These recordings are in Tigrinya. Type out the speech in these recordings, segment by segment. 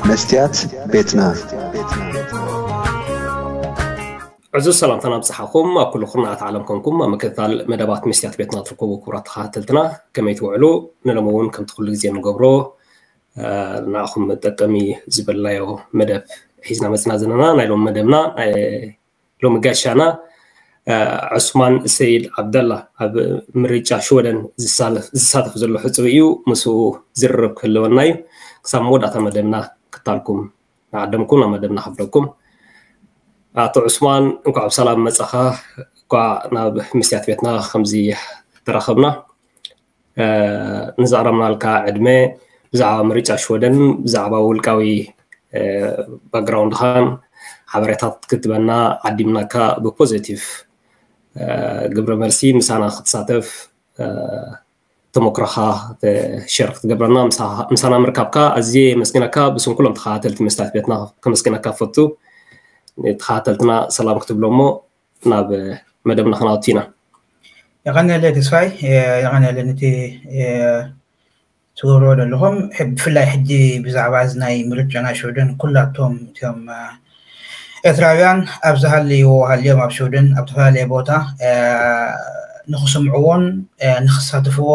መስትያት ቤትና። ዕዙዝ ሰላምታና ኣብጽሓኹም። ኣብ ኩሉ ኩርናዓት ዓለም ኮንኩም ኣብ ምክትታል መደባት መስትያት ቤትና ትርከቡ ክቡራት ተኸታተልትና፣ ከመይ ትውዕሉ? ንሎሚ እውን ከምቲ ኩሉ ግዜ ንገብሮ ንዓኹም መጠቀሚ ዝበልናዮ መደብ ሒዝና መጽና ዘለና። ናይ ሎሚ መደብና ሎሚ ጋሻና ዑስማን ሰይድ ዓብደላ ኣብ ምርጫ ሽወደን ዝሳተፍ ዘሎ ሕጹብ እዩ። ምስኡ ዝርርብ ክህልወና እዩ። ክሳብ መወዳእታ መደብና ክታልኩም ንዓደምኩም ናብ መደብና ከፍለኩም። ኣቶ ዑስማን፣ እንኳዕ ብሰላም መጻኻ። እንኳዕ ናብ መስትያት ቤትና ከምዚ ተራኸብና። ንዘቕረብናልካ ዕድመ፣ ብዛዕባ ምርጫ ሽወደን፣ ብዛዕባ ውልቃዊ ባክግራውንድኻን ሓበሬታት ክትበና ዓዲምናካ ብፖዘቲቭ ግብረ መልሲ ምሳና ክትሳተፍ ተመክሮኻ ሸር ክትገብረና ምሳና ምርካብካ ኣዝየ የመስግነካ። ብስም ኩሎም ተኸታተልቲ መስትያት ቤትና ከመስግነካ ፈቱ። ተኸታተልትና ሰላም ክትብሎ እሞ ናብ መደብና ክናወት ኢና። የቐንየለይ ተስፋይ፣ የቐንየለይ ነቲ ትገብርዎ ዘለኹም። ብፍላይ ሕጂ ብዛዕባ እዚ ናይ ምርጫ ናይ ሽወደን ኩላቶም እቶም ኤርትራውያን ኣብ ዝሃለይዎ ሃልዮም ኣብ ሽወደን ኣብ ዝተፈላለየ ቦታ ንክስምዕዎን ንክሳትፍዎ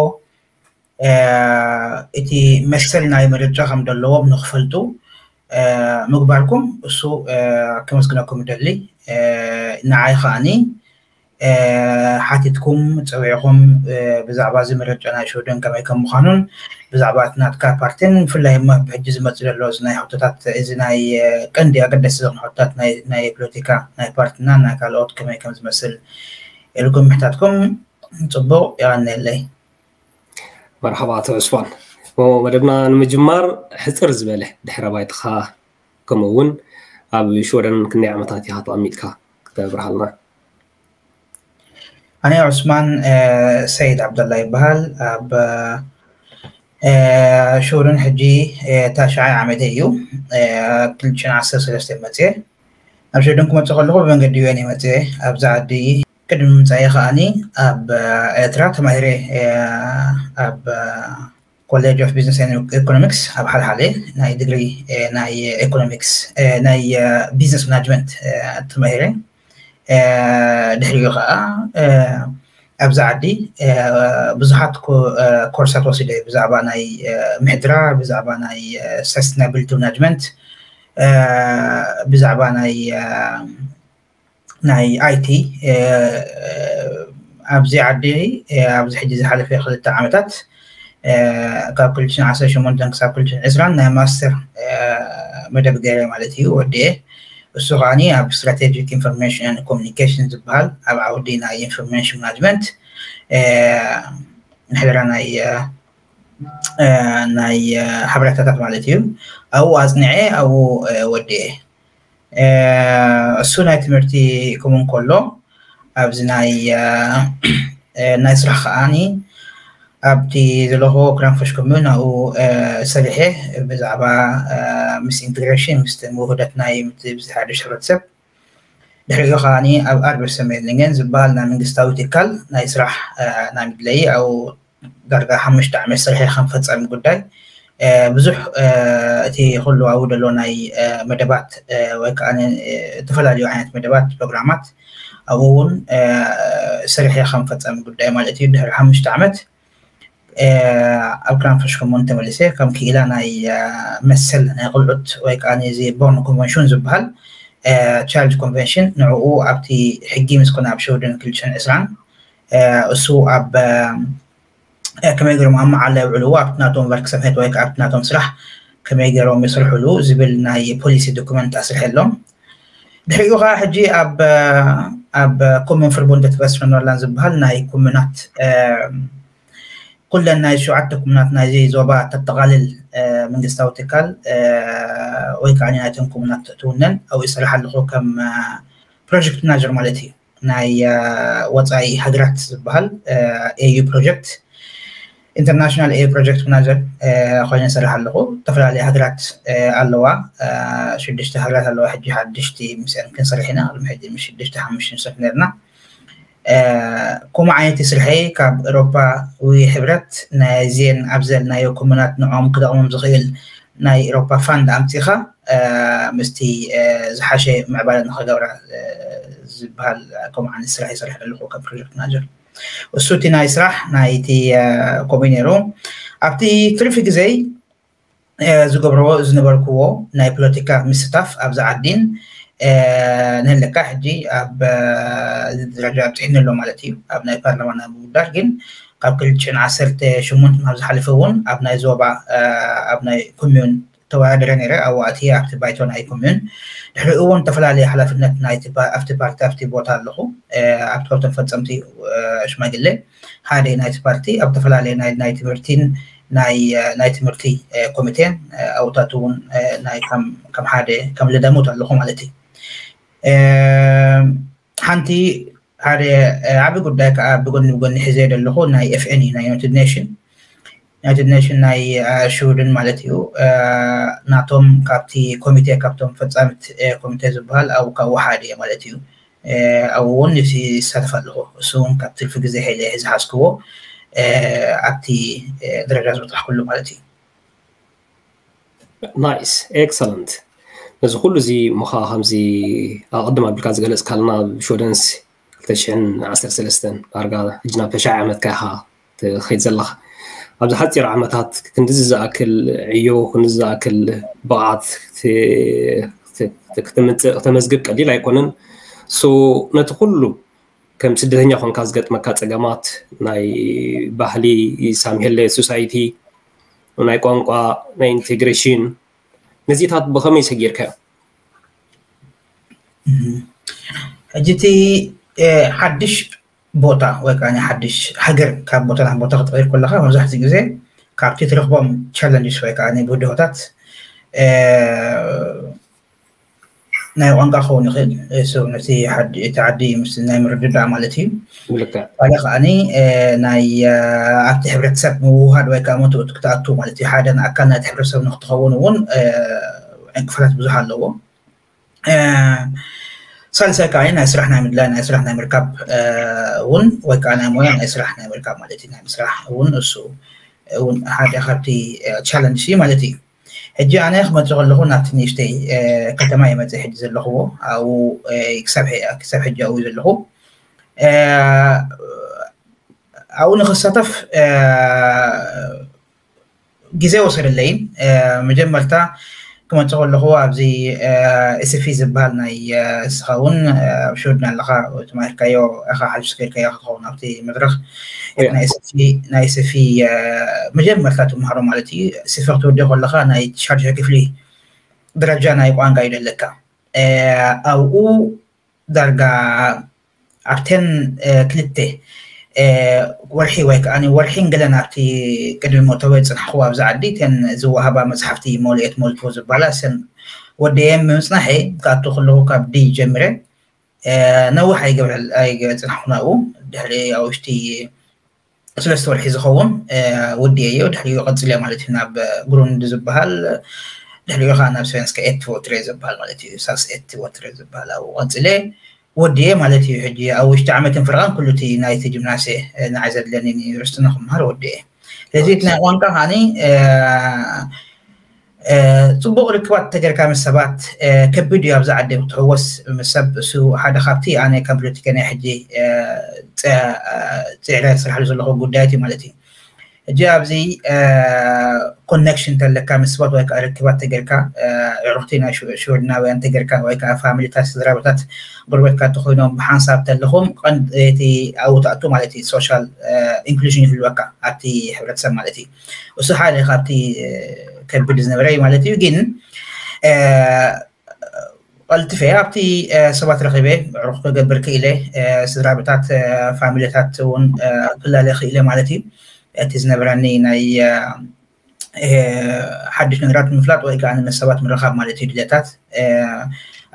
እቲ መሰል ናይ ምርጫ ከም ዘለዎም ንክፈልጡ ምግባርኩም እሱ ከመስግነኩም ይደሊ። ንዓይ ከዓኒ ሓቲትኩም ፀዊዕኹም ብዛዕባ እዚ ምርጫ ናይ ሽወደን ከመይ ከም ምዃኑን ብዛዕባ እቲ ናትካ ፓርቲን ብፍላይ እሞ ብሕጂ ዝመፅእ ዘሎ እዚ ናይ ሕቶታት እዚ ናይ ቀንዲ ኣገደስቲ ዝኾኑ ሕቶታት ናይ ፖለቲካ ናይ ፓርቲና ናይ ካልኦት ከመይ ከም ዝመስል ኢልኩም ምሕታትኩም ፅቡቕ የቐንየለይ። መርሓባ ኣቶ ዑስማን፣ መደብና ንምጅማር ሕፅር ዝበለ ድሕረ ባይታኻ ከምኡ እውን ኣብ ሽወደን ክንደይ ዓመታት ኢኻ ተቐሚጥካ ክተብርሃልና? ኣነ ዑስማን ሰይድ ዓብደላ ይበሃል። ኣብ ሽወደን ሕጂ ታሽዓይ ዓመተይ እዩ። ክልተ ሽሕን ዓሰርተ ሰለስተን መፅየ። ኣብ ሽወደን ክመፅእ ከለኹ ብመንገዲ ዩኤን እየ መፅየ። ኣብዚ ዓዲ ቅድሚ ምምፃኤ ከዓኒ ኣብ ኤርትራ ተማሂረ ኣብ ኮሌጅ ኦፍ ቢዝነስ ኤንድ ኢኮኖሚክስ ኣብ ሓልሓለ ናይ ዲግሪ ናይ ኢኮኖሚክስ ናይ ቢዝነስ ማናጅመንት ተማሂረ። ድሕሪኡ ከዓ ኣብዚ ዓዲ ብዙሓት ኮርሳት ወሲደ ብዛዕባ ናይ ምሕድራ፣ ብዛዕባ ናይ ሰስቴናብሊቲ ማናጅመንት፣ ብዛዕባ ናይ ናይ ኣይቲ ኣብዚ ዓዲ ኣብዚ ሕጂ ዝሓለፈ ክልተ ዓመታት ካብ ክልተ ሽሕን ዓሰርተ ሸሞንተን ክሳብ ክልተ ሽሕን ዕስራን ናይ ማስተር መደብ ገይረ ማለት እዩ ወዲኤ። እሱ ከዓኒ ኣብ ስትራቴጂክ ኢንፎርሜሽን ኮሚኒኬሽን ዝበሃል ኣብ ዓውዲ ናይ ኢንፎርሜሽን ማናጅመንት ምሕደራ ናይ ናይ ሓበሬታታት ማለት እዩ። ኣብኡ ኣፅኒዐ ኣብኡ ወዲኤ። እሱ ናይ ትምህርቲ ክም እንከሎ ኣብዚ ናይ ናይ ስራሕ ከዓኒ ኣብቲ ዘለኹ ክራንፈሽ ኮሙን ኣብኡ ሰሪሐ ብዛዕባ ምስ ኢንቴግሬሽን ምስ ውህደት ናይ ሓድሽ ሕብረተሰብ ድሕሪኡ ከዓኒ ኣብ ኣርበሰሜድሊንገን ዝበሃል ናይ መንግስታዊ ትካል ናይ ስራሕ ናይ ምድለይ ኣብኡ ዳርጋ ሓሙሽተ ዓመት ሰሪሐ ከም ፈፃሚ ጉዳይ ብዙሕ እቲ ኩሉ ኣብኡ ዘሎ ናይ መደባት ወይ ከዓ ዝተፈላለዩ ዓይነት መደባት ፕሮግራማት ኣብኡ እውን ሰሪሐ ከም ፈፃሚ ጉዳይ ማለት እዩ። ድሕሪ ሓሙሽተ ዓመት ኣብ ክራንፈሽ ኮሙን ተመሊሰ ከም ክኢላ ናይ መሰል ናይ ቆልዑት ወይ ከዓ እዚ ቦርን ኮንቨንሽን ዝበሃል ቻይልድ ኮንቨንሽን ንዕኡ ኣብቲ ሕጊ ምስ ኮነ ኣብ ሽወደን ክልተ ሽሕን ዕስራን እሱ ኣብ ከመይ ገይሮም ኣብ መዓላ የውዕልዎ ኣብቲ ናቶም ቨርክሰምሄት ወይ ኣብቲ ናቶም ስራሕ ከመይ ገይሮም ይስርሕሉ ዝብል ናይ ፖሊሲ ዶኩመንት ኣስርሐሎም። ድሕሪኡ ከዓ ሕጂ ኣብ ኣብ ኮሙን ፍርቡንደት ቨስትፈርንላንድ ዝበሃል ናይ ኮሙናት ኩለን ናይ ሸውዓተ ኩሙናት ናይዚ ዞባ ተጠቓልል መንግስታዊ ትካል ወይ ከዓ ናይተን ኩሙናት ትውነን ኣብኡ ይሰርሕ ኣለኹ ከም ፕሮጀክት ማናጀር ማለት እዩ። ናይ ወፃኢ ሃገራት ዝበሃል ኤዩ ፕሮጀክት ኢንተርናሽናል ኤዩ ፕሮጀክት ማናጀር ኮይነ ይሰርሕ ኣለኹ። ዝተፈላለዩ ሃገራት ኣለዋ፣ ሽዱሽተ ሃገራት ኣለዋ። ሕጂ ሓድሽቲ ምስአን ክንሰርሕ ኢና። ቅድሚ ሕጂ ምስ ሽዱሽተ ሓሙሽተ ንሰርሕ ነርና። ከምኡ ዓይነት ስርሐይ ካብ ኤሮፓዊ ሕብረት ናይዚን ኣብ ዘልናዮ ኮሙናት ንዕኦም ክጠቕሞም ዝኽእል ናይ ኤሮፓ ፋንድ ኣምፂኻ ምስቲ ዝሓሸ ምዕባለ ንኸገብራ ዝበሃል ከምኡ ዓይነት ስራሕ ይሰርሕ ዘለኹ ከም ፕሮጀክት ማናጀር። እሱ እቲ ናይ ስራሕ ናይቲ ከምኡ ነይሩ። ኣብቲ ትርፊ ግዜይ ዝገብርዎ ዝነበርክዎ ናይ ፖለቲካ ምስታፍ ኣብዚ ዓዲን ንህለካ ሕጂ ኣብ ደረጃ ኣብፅሒኒ ኣሎ ማለት እዩ። ኣብ ናይ ፓርላማ ናይ ምውዳር ግን ካብ ክልተ ሽሕን ዓሰርተ ሸሞንተን ኣብ ዝሓለፈ እውን ኣብ ናይ ዞባ ኣብ ናይ ኮሚዩን ተወዳደረ ነይረ። ኣብኡ ኣትየ ኣብቲ ባይቶ ናይ ኮሚዩን ድሕሪኡ እውን ዝተፈላለየ ሓላፍነት ናይቲ ፓ- ኣብቲ ፓርቲ ኣብቲ ቦታ ኣለኹ። ኣብቲ ካብቶም ፈፀምቲ ሽማግሌ ሓደ ናይቲ ፓርቲ ኣብ ዝተፈላለየ ናይ ናይ ትምህርቲን ናይ ናይ ትምህርቲ ኮሚቴን ኣብኡታት እውን ናይ ከም ከም ሓደ ከም ልደሙት ኣለኹ ማለት እዩ። ሓንቲ ሓደ ዓቢ ጉዳይ ከዓ ብጎኒ ብጎኒ ሒዘ ዘለኹ ናይ ኤፍኤን እዩ ናይ ዩናይትድ ኔሽን ዩናይትድ ኔሽን ናይ ሽውድን ማለት እዩ። ናቶም ካብቲ ኮሚቴ ካብቶም ፈፃምት ኮሚቴ ዝበሃል ኣብኡ ካብኡ ሓደ እየ ማለት እዩ። ኣብኡ እውን ይሳተፍ ኣለኹ። እሱ እውን ካብ ትርፊ ግዜ ሓይለ ዝሓዝክዎ ኣብቲ ደረጃ ዝበፅሕኩሉ ማለት እዩ። ናይስ ኤክሰለንት። ነዚ ኩሉ እዚ ምኻ ከምዚ ኣቐድም ኣቢልካ ዝገለፅካልና ኣብ ሽወደንስ ክልተ ሽሕን ዓሰርተ ሰለስተን ዳርጋ ሕጂ ናብ ተሽዓ ዓመትካ ኢኻ ትኸይድ ዘለኻ። ኣብዚ ሓፂር ዓመታት ክንድዚ ዝኣክል ዕዮ ክንድዚ ዝኣክል ብቕዓት ክተመዝግብ ቀሊል ኣይኮነን። ሶ ነቲ ኩሉ ከም ስደተኛ ኮንካ ዝገጥመካ ፀገማት ናይ ባህሊ ሳምሄለ ሶሳይቲ ናይ ቋንቋ ናይ ኢንቴግሬሽን ነዚታት ብኸመይ ሰጊርካዮ? ሕጂ እቲ ሓድሽ ቦታ ወይ ከዓ ሓድሽ ሃገር ካብ ቦታ ናብ ቦታ ክትቀይር ከለካ መብዛሕትኡ ግዜ ካብቲ ትረክቦም ቻለንጅስ ወይ ከዓ ብድሆታት ናይ ቋንቋ ክኸውን ይኽእል። ነቲ ዓዲ ምስ ናይ ምርድዳእ ማለት እዩ። ካልእ ከዓኒ ናይ ኣብቲ ሕብረተሰብ ምውሃድ ወይ ከዓ መትእቱ ክትኣቱ ማለት እዩ። ሓደ ኣካል ናይቲ ሕብረተሰብ ንክትኸውን እውን ዕንቅፋታት ብዙሕ ኣለዎ። ሳልሳይ ከዓ ናይ ስራሕ ናይ ምድላይ ናይ ስራሕ ናይ ምርካብ እውን ወይ ከዓ ናይ ሞያ ናይ ስራሕ ናይ ምርካብ ማለት እዩ። ናይ ምስራሕ እውን እሱ እውን ሓደ ካብቲ ቻለንጅ እዩ ማለት እዩ። ሕጂ ኣነ ክመፅእ ከለኹ ናብቲ ንእሽተይ ከተማ እየ መፅእ ሕጂ ዘለኽዎ ኣብኡ ክሳብ ሕጂ ኣብኡ ዘለኹ ኣብኡ ንክሳተፍ ግዜ ወሰደለይን መጀመርታ ክመፅእ ከለኹ ኣብዚ ኤስፊ ዝበሃል ናይ እስኻ እውን ኣብ ሽወድን ኣለኻ ተማሂርካዮ ኢኻ ሓሊፍካ ከይድካዮ ክትኸውን ኣብቲ መድረኽ ናይ ኤስፊ መጀመርታ ትምሃሮ ማለት እዩ። ኤስፊ ክትወድዮ ከለኻ ናይ ሻድሻይ ክፍሊ ደረጃ ናይ ቋንቋ እዩ ደለካ ኣብኡ ዳርጋ ኣብተን ክልተ ወርሒ ወይ ከዓ ወርሒን ገለን ኣብቲ ቅድሚ መእተዊ ዝፅናሕክዎ ኣብዚ ዓዲ እተን ዝወሃባ መፅሓፍቲ ሞልኤት ሞልቶ ዝበሃላ እሰን ወደየን ብምፅናሐ ክኣቱ ከለኹ ካብ ዲ ጀምረ ነዊሕ ኣይገበርኩን ኣብኡ ድሕሪ ኣብ ውሽጢ ሰለስተ ወርሒ ዝኸውን ወዲኤዮ ድሕሪኡ ቀፂለ ማለት እዩ ናብ ግሩንድ ዝበሃል ድሕሪኡ ከዓ ናብ ስቨንስካ ኤት ወትሬ ዝበሃል ማለት እዩ ሳስ ኤት ወትሬ ዝበሃል ኣብኡ ቀፂለ ወዲኤ ማለት እዩ። ሕጂ ኣብ ውሽጢ ዓመትን ፍርቓን ኩሉ እቲ ናይቲ ጅምናስየ ንዓይ ዘድለኒ ዩኒቨርሲቲ ንክምሃር ወዲኤ። ስለዚ እቲ ናይ ቋንቋ ከዓኒ ፅቡቅ ርክባት ተገርካ ምስ ሰባት ከቢድ እዩ። ኣብዚ ዓዲ ክትሕወስ ምስ ሰብ እሱ ሓደ ካብቲ ኣነ ከም ፖለቲከኛ ሕጂ ፅዕረ ስራሕሉ ዘለኹ ጉዳያት እዩ ማለት እዩ። ሕጂ ኣብዚ ኮኔክሽን ተለካ ምስ ሰባት ወይ ከዓ ርክባት ተገርካ ዕሩኽቲ ናይ ሽወድናውያን ተገርካ ወይ ከዓ ፋሚሊታት ስድራቤታት ጎረቤትካ ተኮይኖም ብሓንሳብ ተለኹም ቀንድ እቲ ኣብኡ ትኣቱ ማለት እዩ። ሶሻል ኢንክሉዥን ይህልወካ ኣብቲ ሕብረተሰብ ማለት እዩ። እሱ ሓደ ካብቲ ከቢድ ዝነበረ እዩ ማለት እዩ። ግን ቀልጥፈ ኣብቲ ሰባት ረኺበ ዕሩኽ ክገብር ክኢለ ስድራቤታት ፋሚሊታት እውን ክላለ ክኢለ ማለት እዩ። እቲ ዝነበረኒ ናይ ሓድሽ ነገራት ምፍላጥ ወይ ከዓ ምስ ሰባት ምርኻብ ማለት እዩ ድሌታት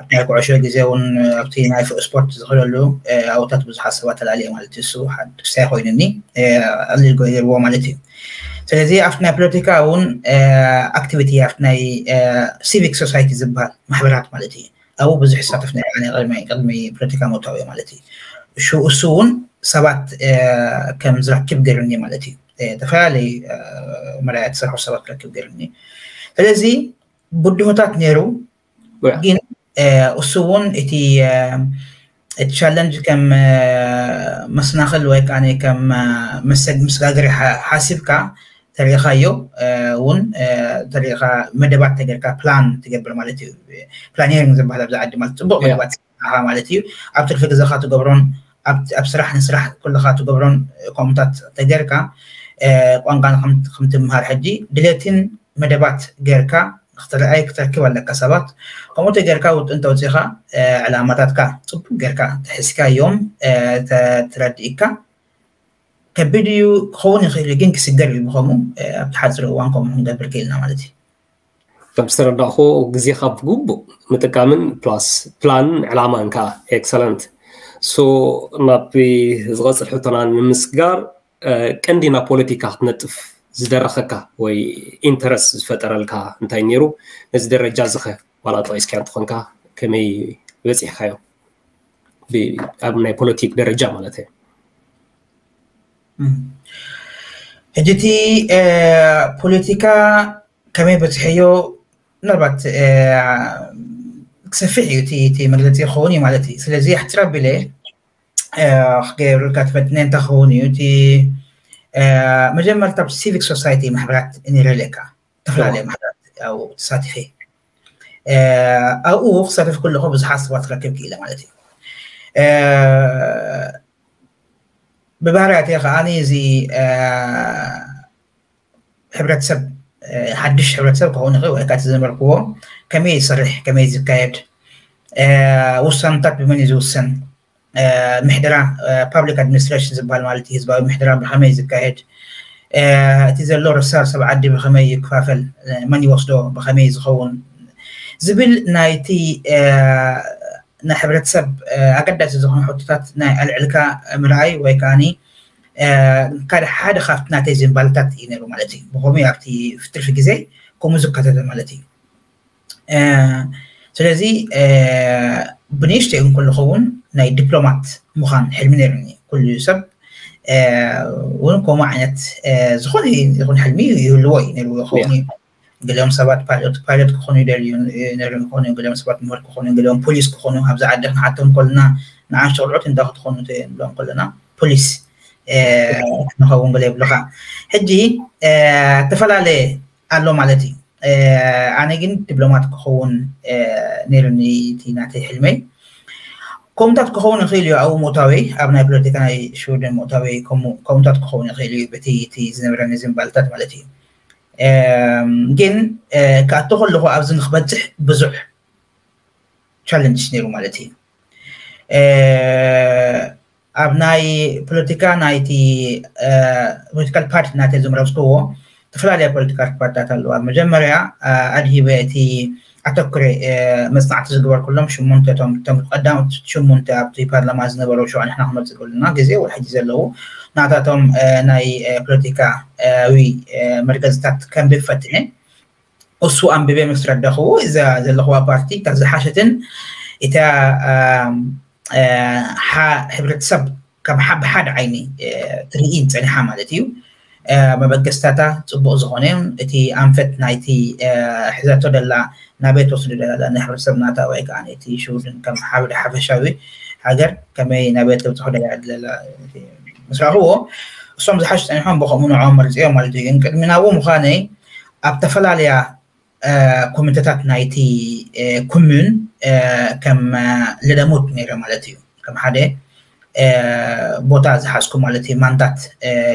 ኣብቲ ናይ ኩዕሾ ግዜ እውን ኣብቲ ናይ ስፖርት ዝኽእለሉ ኣብታት ብዙሓት ሰባት ተላልየ ማለት እዩ። እሱ ሓደ ክሳይ ኮይኑኒ ቀሊል ገይርዎ ማለት እዩ። ስለዚ ኣብቲ ናይ ፖለቲካ እውን ኣክቲቪቲ ኣብቲ ናይ ሲቪክ ሶሳይቲ ዝበሃል ማሕበራት ማለት እዩ ኣብኡ ብዙሕ ይሳተፍ ነይረ ኣነ ቅድሚ ቅድሚ ፖለቲካ ምእታው እየ ማለት እዩ። እሱ እውን ሰባት ከም ዝረክብ ገይሩኒ ማለት እዩ። ዝተፈላለዩ መርኣያ ተሰርሑ ሰባት ክረክብ ገይሩኒ። ስለዚ ብድሆታት ነይሩ፣ ግን እሱ እውን እቲ እቲ ቻለንጅ ከም መሰናኽል ወይ ከዓ ከም መሰግ ምስጋገሪ ሓሲብካ ተሪኢኻዮ እውን ተሪኢኻ መደባት ተገርካ ፕላን ትገብር ማለት እዩ። ፕላኒሪንግ ዝበሃል ኣብዚ ዓዲ ማለት ፅቡቅ መደባት ማለት እዩ። ኣብ ትርፊ ግዜኻ ትገብሮን ኣብ ስራሕ ንስራሕ ኩልኻ ትገብሮን ከምኡታት ተገርካ ቋንቋ ከምትምሃር ሕጂ ድሌትን መደባት ገርካ ክትረኣይ ክትረክብ ኣለካ ሰባት። ከምኡ ተገርካ ውጥን ተውፂኻ ዕላማታትካ ፅቡቅ ገርካ ተሒዝካዮም ተረዲእካ ከቢድ እዩ ክኸውን ይኽእል እዩ፣ ግን ክስገር እዩ ብኸምኡ ኣብቲ ሓፂር እዋን ከምኡ ክንገብር ክኢልና ማለት እዩ። ከም ዝተረዳእኹ ግዜኻ ብግቡእ ምጥቃምን ፕላስ ፕላን ዕላማን ከዓ ኤክሰለንት። ሶ ናብ ዝቐፅል ሕቶና ንምስጋር ቀንዲ ናብ ፖለቲካ ክትነጥፍ ዝደረኸካ ወይ ኢንተረስት ዝፈጠረልካ እንታይ ነይሩ? ነዚ ደረጃ ዝኸ ዋላ ጠቂስካዮ እንተኾንካ ከመይ በፂሕካዮ ኣብ ናይ ፖለቲክ ደረጃ ማለት እዩ? ሕጂ እቲ ፖለቲካ ከመይ በፅሐዮ ምናልባት ክሰፍሕ እዩ እቲ መግለፂ ክኸውን እዩ ማለት እዩ። ስለዚ ኣሕፅር ኣቢለ ክገብርልካ ትፈትነ እንታይ ክኸውን እዩ እቲ መጀመርታ ሲቪክ ሶሳይቲ ማሕበራት ነይረ ኣለካ ዝተፈላለየ ማሕበራት ተሳቲፈ ኣብኡ ክሳተፍ ከለኹ ብዙሓት ሰባት ክረክብ ክኢለ ማለት እዩ። ብባህርያተይ ከዓኒ እዚ ሕብረተሰብ ሓድሽ ሕብረተሰብ ክኸውን ይኽእል ወይ ከዓ ዝነበርክዎ ከመይ ይሰርሕ ከመይ ዝካየድ ውሳነታት ብመን እዩ ዝውሰን ምሕደራ ፓብሊክ ኣድሚኒስትሬሽን ዝበሃል ማለት እዩ ህዝባዊ ምሕደራ ብኸመይ ዝካየድ እቲ ዘሎ ርሳር ሰብ ዓዲ ብኸመይ ይከፋፈል መን ይወስዶ ብኸመይ ዝኸውን ዝብል ናይቲ ናይ ሕብረተሰብ ኣገዳሲ ዝኾኑ ሕቶታት ናይ ኣልዕልካ ምርኣይ ወይ ከዓኒ ሓደ ካብቲ ናተይ ዝንባልታት እዩ ነይሩ ማለት እዩ። ብኸመይ ኣብቲ ትርፊ ግዜ ከምኡ ዝከተተ ማለት እዩ። ስለዚ ብንእሽተይ እውን ከለኹ እውን ናይ ዲፕሎማት ምዃን ሕልሚ ነይሩኒ። ኩሉ ሰብ እውን ከምኡ ዓይነት ዝኾነ ይኹን ሕልሚ ይህልዎ እዩ ነይሩ ይኸውን እዩ። ገሊኦም ሰባት ፓይሎት ፓይሎት ክኾኑ ይደልዩ ነይሮም ክኾኑ እዮም። ገሊኦም ሰባት ምሁር ክኾኑ እዮም። ገሊኦም ፖሊስ ክኾኑ ኣብዚ ዓዲ ክንሓቶም ከለና ንኣሽቱ ቆልዑት እንታይ ክትኾኑ ንብሎም ከለና ፖሊስ ንኸውን ገለ ይብሉኻ። ሕጂ ዝተፈላለየ ኣሎ ማለት እዩ። ኣነ ግን ዲፕሎማት ክኸውን ነይሩኒ እቲ ናተይ ሕልመይ። ከምኡታት ክኸውን ይኽእል እዩ ኣብኡ ምእታወይ ኣብ ናይ ፖለቲካ ናይ ሽውደን ምእታወይ ከምኡታት ክኸውን ይኽእል እዩ በቲ እቲ ዝነበረኒ ዝንባልታት ማለት እዩ። ግን ክኣቱ ከለኹ ኣብዚ ንክበፅሕ ብዙሕ ቻለንጅ ነይሩ ማለት እዩ። ኣብ ናይ ፖለቲካ ናይቲ ፖለቲካል ፓርቲ ናተይ ዝምረፅክዎ ዝተፈላለያ ፖለቲካል ፓርትታት ኣለዋ። መጀመርያ ኣድሂበ እቲ ኣተኩረ መፅናዕቲ ዝግበርኩሎም ሽሙንተ እቶም እቶም ቀዳሞት ሽሙንተ ኣብቲ ፓርላማ ዝነበሩ ሸዋ ንሕና ክመፅእ ከለና ግዜ ወይ ሕጂ ዘለዉ ናታቶም ናይ ፖለቲካዊ መርገፅታት ከንብብ ፈትነ። እሱ ኣንብበ ምስ ረዳኽዎ እዛ ዘለኽዋ ፓርቲ እታ ዝሓሸትን እታ ሕብረተሰብ ከም ብሓደ ዓይኒ ትርኢን ፀኒሓ ማለት እዩ። መበገስታታ ፅቡቕ ዝኾነ እቲ ኣንፈት ናይቲ ሕዘቶ ደላ ናበይ ትወስዶ ደላ ናይ ሕብረተሰብ ናታ ወይ ከዓ እቲ ሽውድን ከም ሓደ ሓፈሻዊ ሃገር ከመይ ናበይ ተብፅሖ ደላ ምስ ረኣኽዎ እሶም ዝሓሹ ፀኒሖም ብኸምኡ ንዕኦም መርፅዮም ማለት እዩ። ግን ቅድሚ ናብኡ ምዃነይ ኣብ ተፈላለያ ኮሚቴታት ናይቲ ኩሙን ከም ልደሙት ነይረ ማለት እዩ። ከም ሓደ ቦታ ዝሓዝኩ ማለት እዩ ማንዳት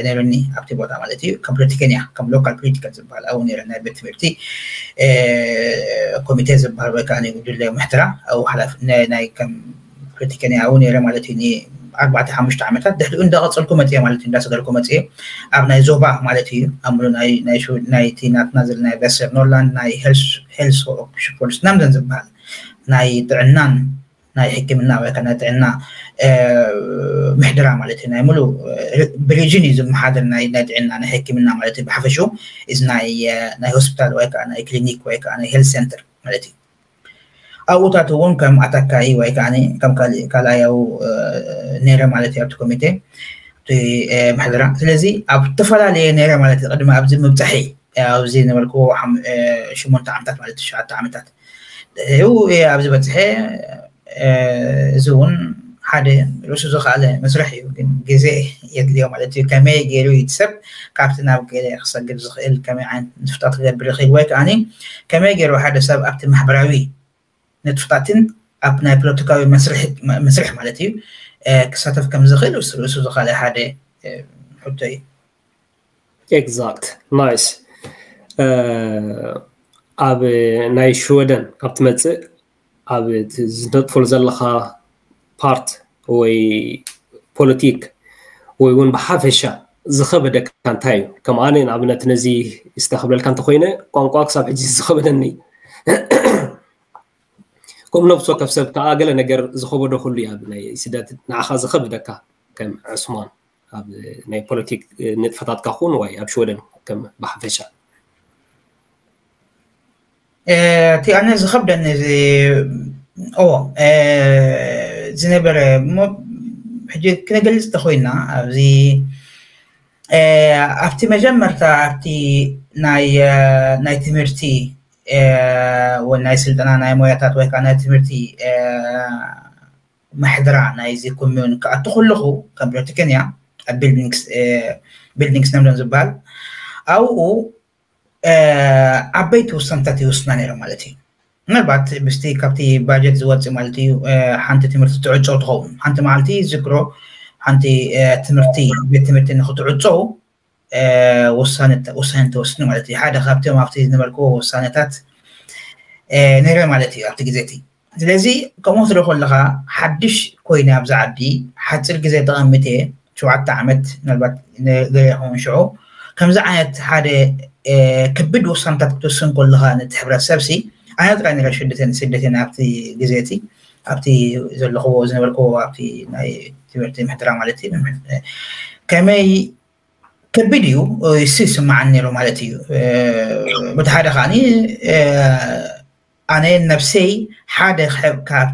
ነይሩኒ ኣብቲ ቦታ ማለት እዩ። ከም ፖለቲከኛ ከም ሎካል ፖለቲካል ዝበሃል ኣብኡ ነይረ ናይ ቤት ትምህርቲ ኮሚቴ ዝበሃል ወይ ከዓ ጉጅለ ምሕደራ ኣብኡ ሓላፊ ናይ ከም ፖለቲከኛ ኣብኡ ነይረ ማለት እዩ። ኣርባዕተ ሓሙሽተ ዓመታት ድሕሪኡ እንዳቐፀልኩ መፅየ ማለት እዩ። እንዳሰገርኩ መፅየ ኣብ ናይ ዞባ ማለት እዩ ኣብ ሙሉ ናይቲ ናትና ዘለና ናይ ቨስተርኖርላንድ ናይ ሄልስ ሽፖርስ ናምዘን ዝበሃል ናይ ጥዕናን ናይ ሕክምና ወይ ናይ ጥዕና ምሕደራ ማለት እዩ። ናይ ሙሉ ብሪጅን እዩ ዝመሓደር ናይ ጥዕና ናይ ሕክምና ማለት እዩ። ብሓፈሽኡ እዚ ናይ ሆስፒታል ወይ ከዓ ናይ ክሊኒክ ወይ ከዓ ናይ ሄልስ ሴንተር ማለት እዩ። ኣብኡታት እውን ከም ኣታካይ ወይ ከዓ ከም ካልኣያዊ ነይረ ማለት እዩ ኣብቲ ኮሚቴ ምሕደራ። ስለዚ ኣብ ዝተፈላለየ ነይረ ማለት እዩ ቅድሚ ኣብዚ ምብፃሐይ ኣብዚ ነበርኩዎ ሽሞንተ ዓመታት ማለት ትሽዓተ ዓመታት ድሕሪኡ ኣብዚ በፅሐ። እዚ እውን ሓደ ርእሱ ዝኸኣለ መስርሕ እዩ፣ ግን ግዜ የድልዮ ማለት እዩ። ከመይ ገይሩ እዩ ሰብ ካብቲ ናብ ገለ ክሰግር ዝኽእል፣ ከመይ ዓይነት ንጥፍታት ክገብር ይኽእል፣ ወይ ከዓኒ ከመይ ገይሩ ሓደ ሰብ ኣብቲ ማሕበራዊ ንጥፍታትን ኣብ ናይ ፖለቲካዊ መስርሕ ማለት እዩ ክሳተፍ ከም ዝኽእል ርእሱ ዝኸኣለ ሓደ ሕቶ እዩ። Exact. Nice. ኣብ ናይ ሽወደን ካብ ትመፅእ ኣብ ዝነጥፈሉ ዘለኻ ፓርት ወይ ፖለቲክ ወይ እውን ብሓፈሻ ዝኸበደካ እንታይ እዩ? ከም ኣነ ንኣብነት ነዚ ስታ ክብለልካ እንተኮይነ ቋንቋ ክሳብ ሕጂ ዝኸበደኒ ከም ነብሲ ወከፍ ሰብ ከዓ ገለ ነገር ዝኸበዶ ኩሉ እዩ ኣብ ናይ ስደት ንዓኻ ዝኸበደካ ከም ዕስማን ኣብ ናይ ፖለቲክ ንጥፈታትካ ኩን ወይ ኣብ ሽወደን ከም ብሓፈሻ እቲ ኣነ ዝኸብደኒ እዎ ዝነበረ እሞ ሕጂ ክነገልፅ ተኮይና ኣብዚ ኣብቲ መጀመርታ ኣብቲ ናይ ናይ ትምህርቲ ወይ ናይ ስልጠና ናይ ሞያታት ወይ ከዓ ናይ ትምህርቲ ምሕድራ ናይዚ ኮሚዩን ክኣቱ ከለኹ ከም ፖለቲከኛ ኣብ ቢልዲንግስ ቢልዲንግስ ነምደን ዝበሃል ኣብኡ ዓበይቲ ውሳነታት ይወስና ነይሮም ማለት እዩ። ምናልባት ብስቲ ካብቲ ባጀት ዝወፅእ ማለት እዩ ሓንቲ ትምህርቲ ትዕፀው ትኸውን ሓንቲ መዓልቲ ዝክሮ ሓንቲ ትምህርቲ ቤት ትምህርቲ ንክትዕፀው ውሳነ ተወስኒ ማለት እዩ። ሓደ ካብቶም ኣብቲ ዝነበርክዎ ውሳነታት ነይረ ማለት እዩ ኣብቲ ግዜ እቲ። ስለዚ ከምኡ ክትርኢ ከለኻ ሓድሽ ኮይነ ኣብዚ ዓዲ ሓፂር ግዜ ተቐሚጠ ሸውዓተ ዓመት ምናልባት ገለ ይኸውን ሽዑ ከምዚ ዓይነት ሓደ ከቢድ ውሳነታት ክትውስን ከለኻ ነቲ ሕብረተሰብ ሲ ኣነ ጥራይ ነረ ሽደተን ስደተን ኣብቲ ግዜ እቲ ኣብቲ ዘለኽዎ ዝነበርክዎ ኣብቲ ናይ ትምህርቲ ምሕደራ ማለት እዩ ከመይ ከቢድ እዩ ይስማዓኒ ነይሩ ማለት እዩ። በቲ ሓደ ከዓኒ ኣነ ነብሰይ ሓደ ካብ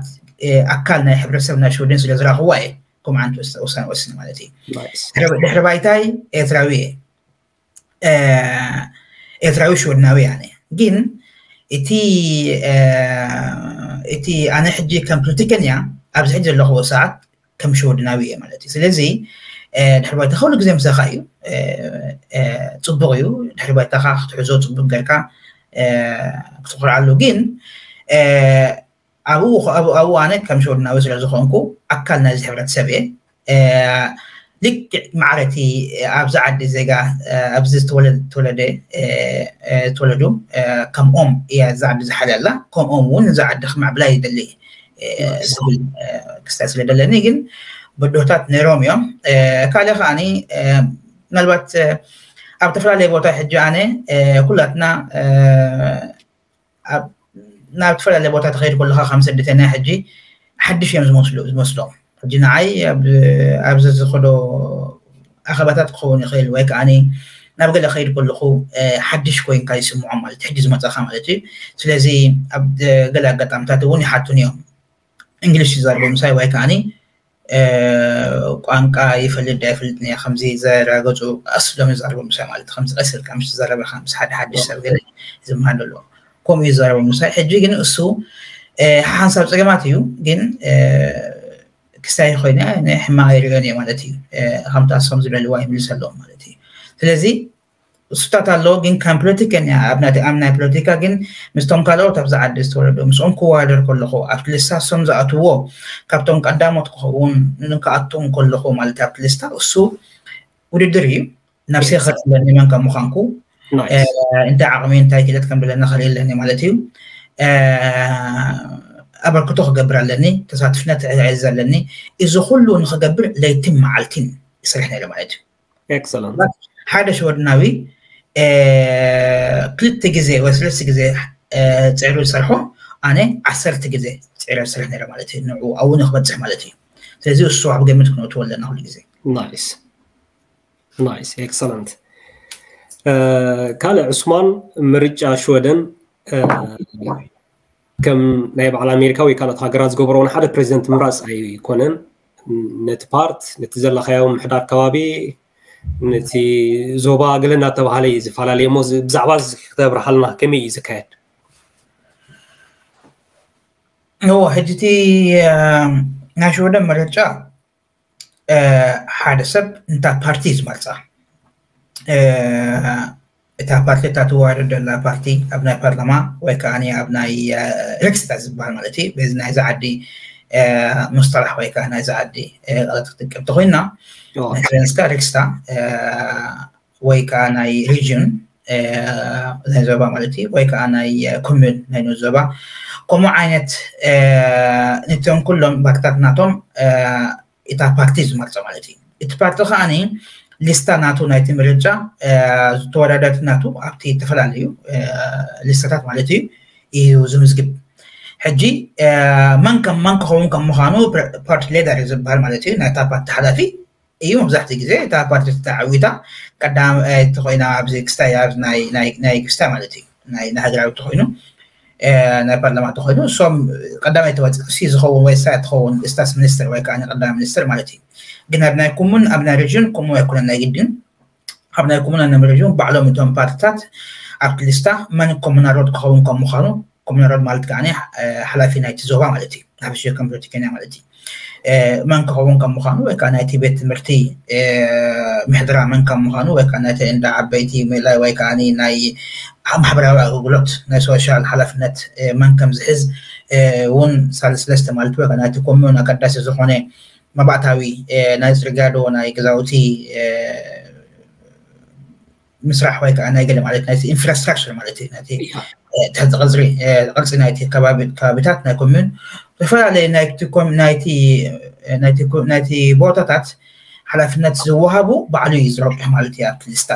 ኣካል ናይ ሕብረተሰብ ናይ ሽወደን ስለ ዝረኽዋ እየ ከምኡ ዓይነት ውሳነ ወስነ ማለት እዩ። ድሕሪ ባይታይ ኤርትራዊ እየ ኤርትራዊ ሽወድናዊ ኣነ ግን እቲ እቲ ኣነ ሕጂ ከም ፖለቲከኛ ኣብዚ ሕጂ ዘለኽዎ ሰዓት ከም ሽወድናዊ እየ ማለት እዩ። ስለዚ ድሕሪ ባይታ ኩሉ ግዜ ምሳኻ እዩ፣ ፅቡቅ እዩ። ድሕሪ ባይታኻ ክትሕዞ ፅቡቅ ጌርካ ክትኮርዓሉ ግን ኣብኡ ኣብኡ ኣነ ከም ሽወድናዊ ስለ ዝኾንኩ ኣካል ናይዚ ሕብረተሰብ እየ። ልክዕ ማዕረቲ ኣብዚ ዓዲ ዜጋ ኣብዚ ዝተወለደ ዝተወለዱ ከምኦም እያ እዚ ዓዲ ዝሓልያ ኣላ ከምኦም እውን እዚ ዓዲ ክማዕብላ ይደሊ ዝብል ክስታይ ስለ ደለኒ ግን በዶታት ነይሮም እዮም። ካልእ ከዓኒ ምናልባት ኣብ ተፈላለየ ቦታ ሕጂ ኣነ ኩላትና ናብ ዝተፈላለየ ቦታ ተኸይድ ከለካ ከም ስደተኛ ሕጂ ሓድሽ እዮም ዝመስሉ ዝመስሎም ሕጂ ንዓይ ኣብዚ ዝኸዶ ኣኸባታት ክኸውን ይኽእል ወይ ከዓ ናብ ገለ ከይድ ከለኹ ሓድሽ ኮይንካ ይስምዖም ማለት ሕጂ ዝመፀኻ ማለት እዩ። ስለዚ ኣብ ገለ ኣጋጣሚታት እውን ይሓቱን እዮም እንግሊሽ ይዛርቡ ምሳይ ወይ ከዓ ቋንቋ ይፈልጥ ዶ ኣይፈልጥን እየ ከምዚ ዘረጋገፁ ቀስ ኢሎም ይዛረቡ ምሳይ ማለት ከምዚ ቀስ ኢልካ ምስ ትዛረብ ኢኻ ምስ ሓደ ሓድሽ ሰብ ገለ ዝመሃር ኣሎ ከምኡ ይዛረቡ ምሳይ ሕጂ ግን እሱ ሓንሳብ ፀገማት እዩ ግን ክስታይ ኮይነ ናይ ሕማቕ ይሪኦን እየ ማለት እዩ። ከምቲ ኣሶም ዝደልዋ ይምልሰሎም ማለት እዩ። ስለዚ እሱታት ኣሎ ግን ከም ፖለቲከኛ ኣብ ናይ ፖለቲካ ግን ምስቶም ካልኦት ኣብዚ ዓዲ ዝተወለዱ ምስኦም ክወዳደር ከለኹ ኣብቲ ልስታ እሶም ዝኣትውዎ ካብቶም ቀዳሞት ክኸውን ክኣቱ ከለኹ ማለት ኣብቲ ልስታ እሱ ውድድር እዩ። ነብሰይ ክፈልጥ ኣለኒ መን ከም ምዃንኩ እንታይ ዓቕሚ እንታይ ክእለት ከም ዘለኒ ክርኢ ኣለኒ ማለት እዩ። ኣበርክቶ ክገብር ኣለኒ፣ ተሳትፍነት ክዕዝ ኣለኒ። እዚ ኩሉ ንክገብር ለይትን መዓልትን ይሰርሕ ነይረ ማለት እዩ። ሓደ ሽወድናዊ ክልተ ግዜ ወይ ሰለስተ ግዜ ፅዕሩ ዝሰርሖ ኣነ ዓሰርተ ግዜ ፅዕረ ዝሰርሕ ነይረ ማለት እዩ። ንዕኡ ኣብኡ ንክበፅሕ ማለት እዩ። ስለዚ እሱ ኣብ ግምት ክነእትዎ ኣለና ኩሉ ግዜ። Nice. Nice. Excellent. ካልእ ዑስማን ምርጫ ሽወደን ከም ናይ በዓል ኣሜሪካ ወይ ካልኦት ሃገራት ዝገበሮ እውን ሓደ ፕሬዚደንት ምምራፅ ኣይኮነን። ነቲ ፓርት፣ ነቲ ዘለኻዮ ምሕዳር ከባቢ፣ ነቲ ዞባ ገለ እናተባሃለ እዩ ዝፈላለ እሞ፣ እዚ ብዛዕባ እዚ ክተብርሃልና፣ ከመይ እዩ ዝካየድ? እዎ፣ ሕጂ እቲ ናይ ሽወደን ምርጫ ሓደ ሰብ እንታ ፓርቲ ዝመርፃ፣ እታ ፓርቲ፣ እታ ትወዳደር ዘላ ፓርቲ ኣብ ናይ ፓርላማ ወይ ከዓ ኣብ ናይ ሪክስታግ ዝበሃል ማለት እዩ፣ በዚ ናይዚ ዓዲ ምስጠላሕ ወይ ከዓ ናይዚ ዓዲ ቃላት ክትጥቀም ተኮይና፣ ናይ ስቨንስካ ሪክስታግ ወይ ከዓ ናይ ሪጅን ናይ ዞባ ማለት እዩ፣ ወይ ከዓ ናይ ኮሙን ናይ ንኡስ ዞባ፣ ከምኡ ዓይነት ነቶም ኩሎም ባርታት ናቶም እታ ፓርቲ ዝመርፆ ማለት እዩ። እቲ ፓርቲ ከዓኒ ሊስታ ናቱ ናይቲ ምርጫ ዝተወዳደርቲ ናቱ ኣብቲ ዝተፈላለዩ ሊስታታት ማለት እዩ እዩ ዝምዝግብ። ሕጂ መን ከም መን ክኸውን ከም ምዃኑ ፓርቲ ሌደር ዝበሃል ማለት እዩ፣ ናይታ ፓርቲ ሓላፊ እዩ። መብዛሕትኡ ግዜ እታ ፓርቲ ተዓዊታ ቀዳማይቲ ኮይና ኣብዚ ክስታይ ኣብ ናይ ናይ ናይ ክስታይ ማለት እዩ፣ ናይ ናይ ሃገራዊ ተኮይኑ ናይ ፓርላማ ተኮይኑ እሶም ቀዳማይ ተወፅእ እሲ ዝኸውን ወይ እሳ ትኸውን ስታትስ ሚኒስትር ወይ ከዓ ቀዳማይ ሚኒስትር ማለት እዩ። ግን ኣብ ናይ ኮሙን ኣብ ናይ ሪጅን ከምኡ ኣይኮነን ናይ ግድን። ኣብ ናይ ኮሙን ኣብ ናይ ሪጅን ባዕሎም እቶም ፓርትታት ኣብቲ ሊስታ መን ኮሙናሮድ ክኸውን ከም ምዃኑ ኮሙናሮድ ማለት ከዓ ሓላፊ ናይቲ ዞባ ማለት እዩ፣ ሓፈሻዊ ከም ፖለቲከኛ ማለት እዩ። መን ክኸውን ከም ምዃኑ ወይ ከዓ ናይቲ ቤት ትምህርቲ ምሕድራ መን ከም ምዃኑ ወይ ከዓ ናይቲ እንዳ ዓበይቲ ምእላይ ወይ ከዓ ናይ ማሕበራዊ ኣገልግሎት ናይ ሶሻል ሓላፍነት መን ከም ዝሕዝ እውን ሳልስለስተ ማለት ወይ ከዓ ናይቲ ኮሙን ኣገዳሲ ዝኾነ መባእታዊ ናይ ፅርግያ ዶ ናይ ገዛውቲ ምስራሕ ወይ ከዓ ናይ ገለ ማለት ናይቲ ኢንፍራስትራክቸር ማለት እዩ፣ ናይቲ ትሕቲ ቅፅሪ ቅርፂ ናይቲ ከባቢታት ናይ ኮሙን ዝተፈላለዩ ናይቲ ቦታታት ሓላፍነት ዝወሃቡ ባዕሉ እዩ ዝረብሕ ማለት እዩ። ኣብቲ ሊስታ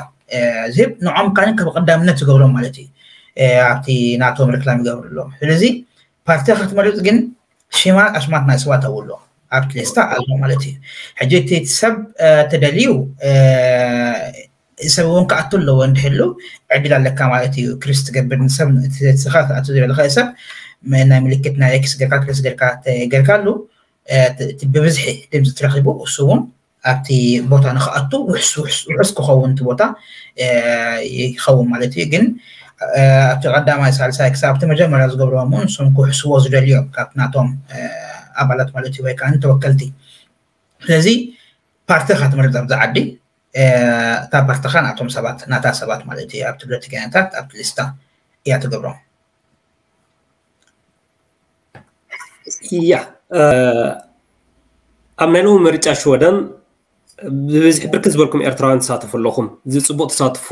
ዝህብ ንዖም ካን ከም ቀዳምነት ዝገብሮም ማለት እዩ፣ ኣብቲ ናቶም ሪክላም ይገብርሎም። ስለዚ ፓርቲ ክትመርፅ ግን ሽማ ኣሽማት ናይ ሰባት ኣብሎ ኣብቲ ሊስታ ኣሎ ማለት እዩ። ሕጂ እቲ ሰብ ተደልዩ ሰብ እውን ክኣቱ ኣለዎ እንድሕሉ ዕድል ኣለካ ማለት እዩ። ክሪስ ትገብር ንሰብ ስኻ ክኣቱ ዝደለኸ ሰብ ናይ ምልክት ናይ ኤክስ ገርካ ክሪስ ገርካ ገርካሉ ብብዝሒ ድምፂ ትረኪቡ እሱ እውን ኣብቲ ቦታ ንክኣቱ ውሕስ ክኸውን እቲ ቦታ ይኸውን ማለት እዩ። ግን ኣብቲ ቀዳማይ ሳልሳይ ክሳብ ኣብቲ መጀመርያ ዝገብርዎም እውን ንሶም ክውሕስዎ ዝደልዮም ካብ ናቶም ኣባላት ማለት እዩ ወይ ከዓ ተወከልቲ። ስለዚ ፓርቲ ክትመርፅ ኣብዚ ዓዲ እታ ፓርትኻ ናቶም ሰባት ናታ ሰባት ማለት እዩ ኣብቲ ፖለቲከኛታት ኣብቲ ሊስታ እያ ትገብሮም። ያ ኣብ ናይ ሎሚ ምርጫ ሽወደን ብብዝሒ ብርክት ዝበልኩም ኤርትራውያን ትሳተፉ ኣለኹም። እዚ ፅቡቅ ተሳትፎ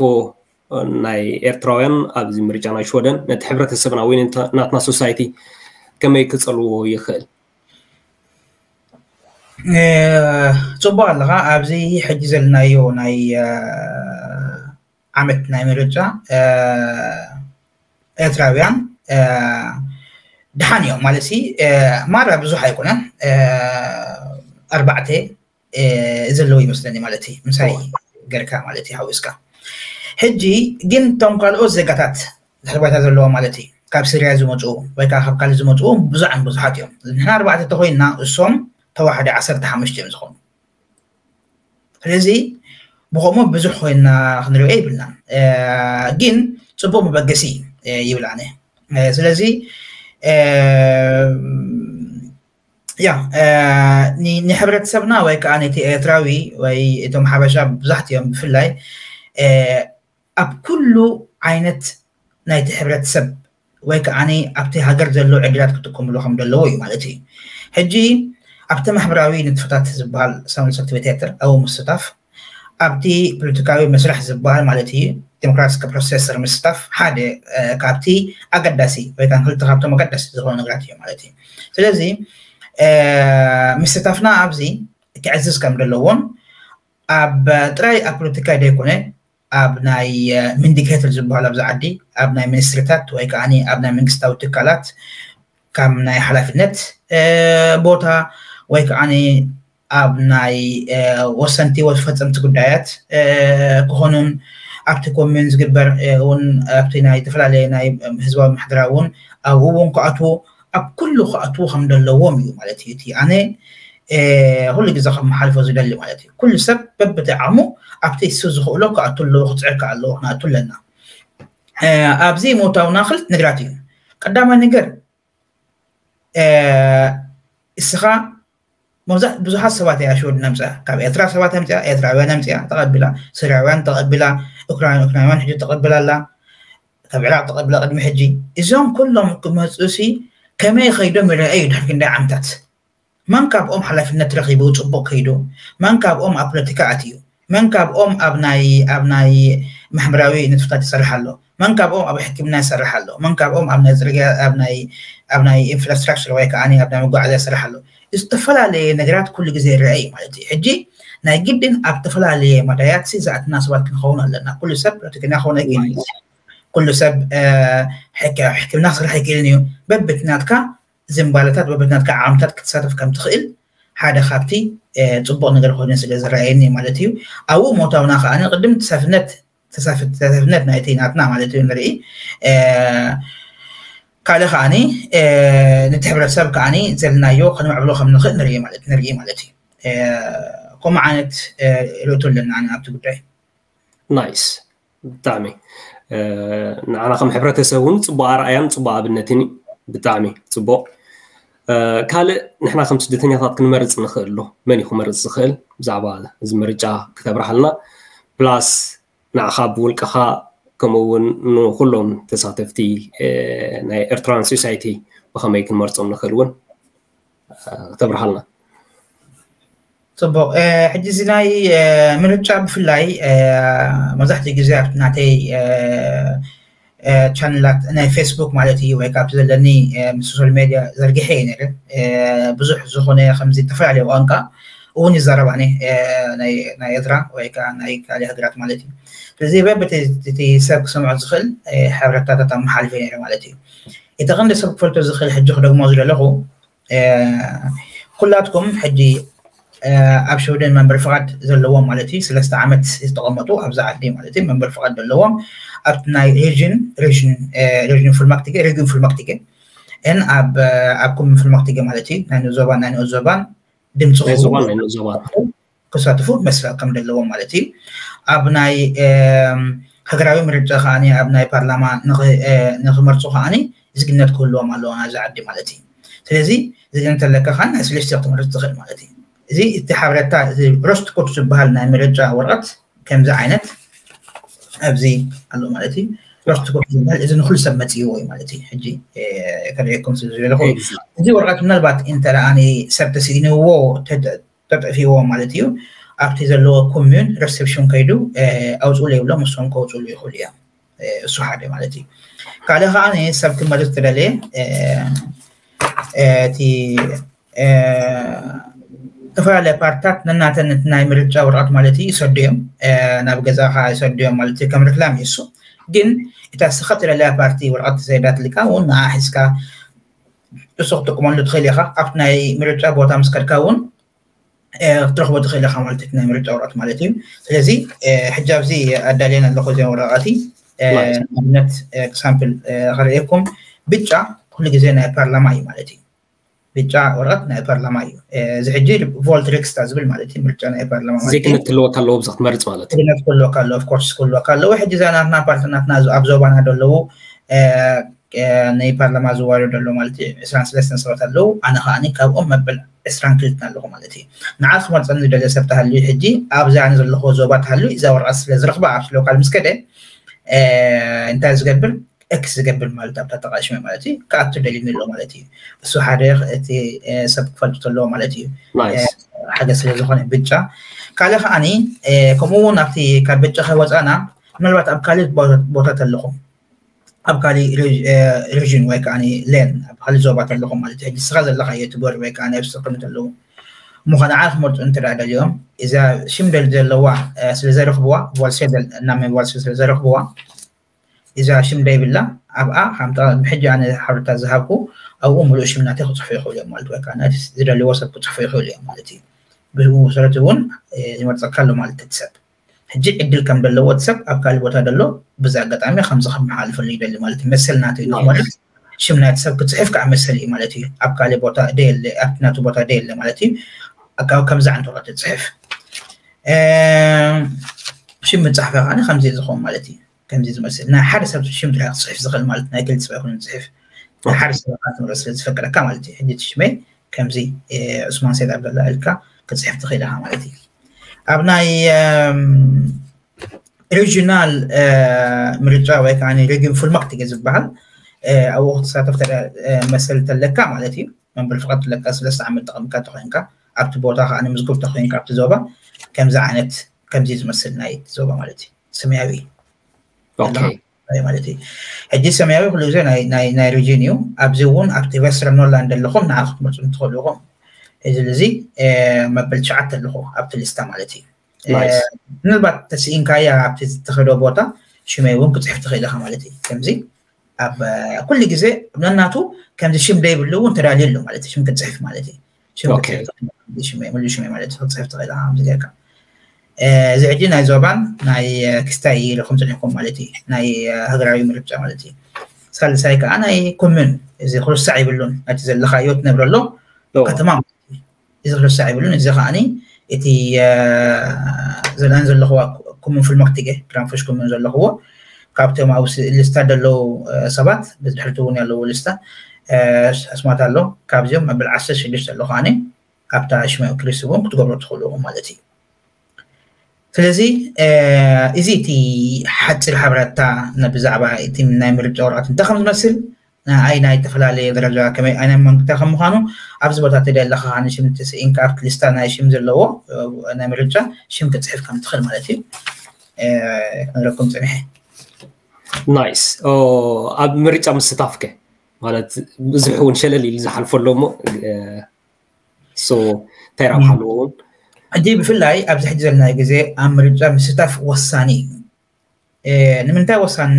ናይ ኤርትራውያን ኣብዚ ምርጫ ናይ ሽወደን ነቲ ሕብረተሰብና ወይ ናትና ሶሳይቲ ከመይ ክፀልዎ ይኽእል? ፅቡቅ ኣለኻ። ኣብዚ ሕጂ ዘለናዮ ናይ ዓመት ናይ ምርጫ ኤርትራውያን ድሓን እዮም ማለት ሲ ማራ ብዙሕ ኣይኮነን ኣርባዕተ ዘለዉ ይመስለኒ ማለት እዩ ምሳይ ገርካ ማለት እዩ ሓዊስካ። ሕጂ ግን እቶም ካልኦት ዜጋታት ድሕሪ ባይታ ዘለዎም ማለት እዩ ካብ ስርያ ዝመፁ ወይ ከዓ ካብ ካልእ ዝመፁ ብዙሓን ብዙሓት እዮም። ንሕና ኣርባዕተ ተኮይንና እሶም ተዋሕደ ዓሰርተ ሓሙሽተ እዮም ዝኾኑ። ስለዚ ብከምኡ ብዙሕ ኮይና ክንሪኦ ይብልናን ግን ፅቡቅ መበገሲ ይብል ኣነ። ስለዚ ያ ንሕብረተሰብና ወይ ከዓ ነቲ ኤርትራዊ ወይ እቶም ሓበሻ ብዙሕት እዮም ብፍላይ ኣብ ኩሉ ዓይነት ናይቲ ሕብረተሰብ ወይ ከዓ ኣብቲ ሃገር ዘሎ ዕድላት ክጥቀምሉ ከም ዘለዎ እዩ ማለት እዩ። ሕጂ ኣብቲ ማሕበራዊ ንጥፈታት ዝበሃል ሳምል ሰክቲቪቴተር ኣብኡ ምስታፍ ኣብቲ ፖለቲካዊ መስርሕ ዝበሃል ማለት እዩ ዲሞክራቲክ ፕሮሴሰር ምስታፍ ሓደ ካብቲ ኣገዳሲ ወይ ከዓ ክልተ ካብቶም ኣገዳሲ ዝኾኑ ነገራት እዩ ማለት እዩ። ስለዚ ምስታፍና ኣብዚ ክዕዝዝ ከም ዘለዎን ኣብ ጥራይ ኣብ ፖለቲካ ዘይኮነ ኣብ ናይ ሚንዲኬተር ዝበሃል ኣብዚ ዓዲ ኣብ ናይ ሚኒስትሪታት ወይ ከዓ ኣብ ናይ መንግስታዊ ትካላት ከም ናይ ሓላፍነት ቦታ ወይ ከዓ ኣብ ናይ ወሰንቲ ወይ ፈፀምቲ ጉዳያት ክኾኑን ኣብቲ ኮሚዩን ዝግበር እውን ኣብቲ ናይ ዝተፈላለየ ናይ ህዝባዊ ማሕደራ እውን ኣብኡ እውን ክኣትዉ ኣብ ኩሉ ክኣትዉ ከም ዘለዎም እዩ ማለት እዩ እቲ ኣነ ኩሉ ግዜ ከም መሓልፎ ዝደሊ ማለት እዩ። ኩሉ ሰብ በብቲ ዓቕሙ ኣብቲ እሱ ዝኽእሎ ክኣቱ ኣለዎ፣ ክፅዕር ኣለዎ፣ ክንኣቱ ኣለና። ኣብዚ ምእታውና ክልተ ነገራት እዩ። ቀዳማይ ነገር እስኻ መብዛሕ ብዙሓት ሰባት እያ ሽወደን ኣምፅኣ። ካብ ኤርትራ ሰባት ኣምፅኣ፣ ኤርትራውያን ኣምፅኣ ተቐቢላ፣ ስርያውያን ተቐቢላ፣ ኡክራይን ኡክራይናውያን ሕጂ ተቐቢላ ኣላ፣ ካብ ዕራቕ ተቐቢላ ቅድሚ ሕጂ። እዞም ኩሎም ክመፁ ሲ ከመይ ከይዶም ይረኣዩ ድሕሪ ክንደይ ዓመታት? መን ካብኦም ሓላፍነት ረኺቡ ፅቡቕ ከይዱ? መን ካብኦም ኣብ ፖለቲካ ኣትዩ? መን ካብኦም ኣብ ናይ ኣብ ናይ ማሕበራዊ ንጥፈታት ይሰርሕ ኣሎ? መን ካብኦም ኣብ ሕክምና ይሰርሕ ኣሎ? መን ካብኦም ኣብ ናይ ፅርግያ ኣብ ናይ ኣብ ናይ ኢንፍራስትራክቸር ወይ ከዓ ኣብ ናይ መጓዓዝያ ይሰርሕ ኣሎ? ዝተፈላለየ ነገራት ኩሉ ግዜ ይረአ እዩ ማለት እዩ። ሕጂ ናይ ግድን ኣብ ዝተፈላለየ መዳያት ዝኣትና ሰባት ክንኸውን ኣለና። ኩሉ ሰብ ፖለቲከኛ ክኸውን ኣይክእልን እዩ። ኩሉ ሰብ ሕክምና ክሰርሕ ኣይክእልን እዩ። በብትናትካ ዝንባለታት በብትናትካ ዓምታት ክትሳተፍ ከም ትኽእል ሓደ ካብቲ ፅቡቕ ነገር ኮይኑ ስለ ዝረኣየኒ ማለት እዩ። ኣብኡ ሞታውና ከዓ ቅድም ተሳፍነት ተሳፍነት ናይቲ ናትና ማለት እዩ ንርኢ። ካልእ ከዓ ነቲ ሕብረተሰብ ከዓ ዘለናዮ ከነምዕብሎ ከም ንኽእል ንርኢ ማለት ንርኢ ማለት እዩ። ከምኡ ዓይነት ርእቶ ኣለና ኣብቲ ጉዳይ። ናይስ ብጣዕሚ ንዓና ከም ሕብረተሰብ እውን ፅቡቅ ኣርኣያን ፅቡቅ ኣብነትን እዩ። ብጣዕሚ ፅቡቅ። ካልእ ንሕና ከም ስደተኛታት ክንመርፅ ንኽእል ዶ? መን እዩ ክመርፅ ዝኽእል? ብዛዕባ እዚ ምርጫ ክተብርሃልና ፕላስ ንዓኻ ብውልቅኻ ከምኡ እውን ንኩሎም ተሳተፍቲ ናይ ኤርትራን ሶሳይቲ ብኸመይ ክንመርፆም ንኽእል እውን ክተብርሃልና። ፅቡቅ። ሕጂ እዚ ናይ ምርጫ ብፍላይ መብዛሕትኡ ግዜ ኣብቲ ናተይ ቻነላት ናይ ፌስቡክ ማለት እዩ ወይ ካብቲ ዘለኒ ምስ ሶሻል ሜድያ ዘርጊሐ እየ ነይረ። ብዙሕ ዝኾነ ከምዚ ዝተፈላለዩ ቋንቋ እውን ይዛረብ ኣነ ናይ ኤርትራ ወይ ከዓ ናይ ካልእ ሃገራት ማለት እዩ። ስለዚ በብቲ ሰብ ክሰምዖ ዝኽእል ሓበሬታታት ኣመሓልፈ ነይረ ማለት እዩ። እቲ ቀንዲ ሰብ ክፈልጦ ዝኽእል ሕጂ ክደግሞ ዝደለኹ ኩላትኩም ሕጂ ኣብ ሽወደን መንበሪ ፍቓድ ዘለዎም ማለት እዩ ሰለስተ ዓመት ዝተቐመጡ ኣብዚ ዓዲ ማለት እዩ መንበሪ ፍቓድ ዘለዎም ኣብቲ ናይ ሬጅን ሬጅን ሬጅን ፉልማክቲገ ሬጅን ፉልማክቲገ ን ኣብ ኣብ ኩምን ፉልማክቲገ ማለት እዩ ናይ ንኡስ ዞባን ናይ ንኡስ ዞባን ድምፂ ክሳትፉ መስፈር ከም ዘለዎም ማለት እዩ። ኣብ ናይ ሃገራዊ ምርጫ ከዓ ኣብ ናይ ፓርላማ ንክመርፁ ከዓ ዜግነት ክህልዎም ኣለዎ ናብዚ ዓዲ ማለት እዩ። ስለዚ ዜግነት ኣለካ ከዓ ናይ ስለስተ ክትመርፅ ትኽእል ማለት እዩ። እዚ እቲ ሓበሬታ ሮስት ኮድ ዝበሃል ናይ ምርጫ ወረቐት ከምዚ ዓይነት ኣብዚ ኣሎ ማለት እዩ። ሮስት ኮድ ዝበሃል እዚ ንኩሉ ሰብ መፅእዎ እዩ ማለት እዩ። ሕጂ ከርእየኩም ስለ ዝደለኹ እዚ ወረቐት ምናልባት እንተ ሰብ ተስኢንዎ ተጠፊዎ ማለት እዩ። ኣብቲ ዘለዎ ኮሚዩን ሪሰፕሽን ከይዱ ኣውፅኡ ይብሎም እሶም ከውፅሉ ይኽእሉ እዮም። እሱ ሓደ ማለት እዩ። ካልእ ከዓ ሰብ ክመርፅ ተደለየ እቲ ዝተፈላለያ ፓርትታት ነናተን ናይ ምርጫ ወረቐት ማለት እዩ ይሰዱ እዮም። ናብ ገዛኻ ይሰዱ እዮም ማለት እዩ። ከም ርክላም እዩ እሱ። ግን እታ ስኻ ትደለያ ፓርቲ ወረቐት ተሰይዳትልካ እውን ንዓ ሒዝካ እሱ ክትጥቀመሉ ትኽእል ኢኻ። ኣብቲ ናይ ምርጫ ቦታ ምስ ከድካ እውን ክትረኽቦ ትኽእል ኢኻ ማለት እዩ ናይ ምርጫ ወረቐት ማለት እዩ። ስለዚ ሕጂ ኣብዚ ኣዳልየን ኣለኹ እዚኦም ወረቐቲ ንኣብነት ሳምፕል ከርእየኩም ብጫ ኩሉ ግዜ ናይ ፓርላማ እዩ ማለት እዩ። ብጫ ወረቐት ናይ ፓርላማ እዩ። እዚ ሕጂ ቮልት ሪክስታ ዝብል ማለት እዩ ምርጫ ናይ ፓርላማ ማለት እዩ። ዜግነት ክህልወካ ኣለዎ ብዛ ክትመርፅ ማለት እዩ። ዜግነት ክህልወካ ኣለዎ ኦፍኮርስ ክህልወካ ኣለዎ። ሕጂ እዛ ናትና ፓርቲ ናትና ኣብ ዞባና ዘለዉ ናይ ፓርላማ ዝዋደዱ ኣለዉ ማለት እዩ። ዕስራን ሰለስተን ሰባት ኣለዉ። ኣነ ከዓ ካብኦም መበል ዕስራን ክልተን ኣለኹ ማለት እዩ። ንዓ ክመርፀኒ ዝደልዮ ሰብ ተሃልዩ ሕጂ ኣብዚ ኣነ ዘለኹ ዞባ ተሃልዩ እዛ ወረቐት ስለ ዝረኽባ ኣብቲ ሎካል ምስ ከደ እንታይ ዝገብር ኤክስ ዝገብር ማለት ኣብታ ተቃሽመ ማለት እዩ ክኣቱ ደሊኒ ኣሎ ማለት እዩ። እሱ ሓደ እቲ ሰብ ክፈልጡ ኣለዎ ማለት እዩ። ሓገዝ ስለ ዝኾነ ብጫ ካልእ ከዓኒ ከምኡ እውን ኣብቲ ካብ ብጫ ከይወፃና ምናልባት ኣብ ካልእ ቦታ ተለኹም ኣብ ካልእ ሬጅን ወይ ከዓ ሌን ኣብ ካልእ ዞባ ተለኹም ማለት እዩ። ሕጂ ስኻ ዘለኻዮ ትጎር ወይ ከዓ ኣብ ስቕምት ኣለዉ እሞ ከነዓ ክመርፁ እንተ ደኣ ደልዮም እዛ ሽም ደል ዘለዋ ስለ ዘረኽብዋ ቮልሴ እናመ ቮልሴ ስለ ዘረኽብዋ እዛ ሽም ደይብላ ኣብኣ ከምታ ብሕጂ ኣነ ሓበሬታ ዝሃብኩ ኣብኡ ሙሉእ ሽም ናተይ ክፅሕፉ ይኽእሉ እዮም ማለት ወይ ከዓ ናቲ ዝደልዎ ሰብ ክፅሕፉ ይኽእሉ እዮም ማለት እዩ። ብኡ መሰረት እውን ይመርፀካ ኣሎ ማለት እቲ ሰብ ሕጂ ዕድል ከም ዘለዎ እቲ ሰብ ኣብ ካልእ ቦታ ዘሎ፣ በዚ ኣጋጣሚ ከምዚ ከመሓላልፈሉ ይደሊ ማለት እዩ። መሰል ናቱ እዩ ንክመርጽ፣ ሽም ናይቲ ሰብ ክጽሕፍ ከዓ መሰል እዩ ማለት እዩ። ኣብ ካልእ ቦታ ደየለ፣ ኣብቲ ናቱ ቦታ ደየለ ማለት እዩ። ኣካብ ከምዚ ዓይነት ወረቀት ትጽሕፍ። ሽም ምጻሕፈ ከዓ ከምዚ ዝኸውን ማለት እዩ። ከምዚ ዝመስል ናይ ሓደ ሰብ ሽም ጥራሕ ክጽሕፍ ዝኽእል ማለት ናይ ክልተ ሰብ ኣይኮነን ዝጽሕፍ። ናይ ሓደ ሰብ ኣካል ትምህርቲ ስለ ዝፈቀደካ ማለት እዩ። ሕጂ እቲ ሽመይ ከምዚ ዑስማን ሰይድ ኣብደላ ኢልካ ክጽሕፍ ትኽእል ኢኻ ማለት እዩ። ኣብ ናይ ሪጂናል ምርጫ ወይ ከዓ ሪጊን ፉልማክት ዝበሃል ኣብኡ ክትሳተፍ መሰል ተለካ ማለት እዩ። መንበሪ ፍቃድ ተለካ፣ ሰለስተ ዓመት ተቐምካ ተኮይንካ ኣብቲ ቦታ ከዓ ንምዝጉብ ተኮይንካ ኣብቲ ዞባ ከምዚ ዓይነት ከምዚ ዝመስል ናይ ዞባ ማለት እዩ። ሰማያዊ ማለት እዩ። ሕጂ ሰማያዊ ኩሉ ግዜ ናይ ሪጅን እዩ። ኣብዚ እውን ኣብቲ ዌስተርን ኖርላንድ ኣለኹም ንዓ ክትመፁ ትኽእሉ ኢኹም። እዚ እዚ መበል ትሽዓተ ኣለኹ ኣብቲ ሊስታ ማለት እዩ። ምናልባት ተስኢንካያ ኣብቲ ዝተኸዶ ቦታ ሽመይ እውን ክፅሕፍ ትኽእል ኢኻ ማለት እዩ። ከምዚ ኣብ ኩሉ ግዜ ነናቱ ከምዚ ሽም ደይብሉ እውን ተዳልዩ ኣሎ ማለት እዩ። ሽም ክትፅሕፍ ማለት እዩ። ሽም ክትፅሕፍ ትኽእል ኢኻ፣ ሽመይ፣ ሙሉእ ሽመይ ማለት እዩ። ክትፅሕፍ ትኽእል ኢኻ ከምዚ ጌርካ። እዚ ሕጂ ናይ ዞባን ናይ ክስታይ ኢልኩም ፅሒፍኩም ማለት እዩ። ናይ ሃገራዊ ምርጫ ማለት እዩ። ሳልሳይ ከዓ ናይ ኮሙን፣ እዚ ክርሳዕ ይብሉን፣ ነቲ ዘለኻዮ ትነብረሎ ከተማ ማለት እዩ። እዚ ክርሳዕ ይብሉን። እዚ ከዓኒ እቲ ዘለኣን ዘለኽዋ ኮሙን ፉልማክቲገ፣ ግራንፎሽ ኮሙን ዘለኽዎ ካብቶም ኣብ ሊስታ ዘለዉ ሰባት ብድሕሪቲ እውን ያለዉ ሊስታ ኣስማት ኣሎ። ካብዚኦም መበል ዓሰርተ ሽዱሽተ ኣሎ ከዓኒ ኣብታ ሽመ ክሪስ እውን ክትገብሮ ትኽእሉ ኢኹም ማለት እዩ። ስለዚ እዚ እቲ ሓፂር ሓበሬታ ብዛዕባ እቲ ናይ ምርጫ ወረቐት እንታይ ከም ዝመስል፣ ንኣይ ናይ ዝተፈላለየ ደረጃ ከመይ ዓይነት መንግስቲ ከም ምዃኑ ኣብዚ ቦታ ተደለኻ ንሽም ትስኢንካ ኣብቲ ሊስታ ናይ ሽም ዘለዎ ናይ ምርጫ ሽም ክትፅሕፍ ከም ትኽእል ማለት እዩ። ክንረኩም ፅንሐ። ናይስ። ኣብ ምርጫ ምስታፍከ ማለት ብዙሕ እውን ሸለል ኢሉ ዝሓልፎ ኣሎ እሞ እንታይ ረብሓ ኣለዎ እውን? ሕጂ ብፍላይ ኣብዚ ሕጂ ዘለናዮ ግዜ ኣብ ምርጫ ምስታፍ ወሳኒ እዩ። ንምንታይ ወሳኒ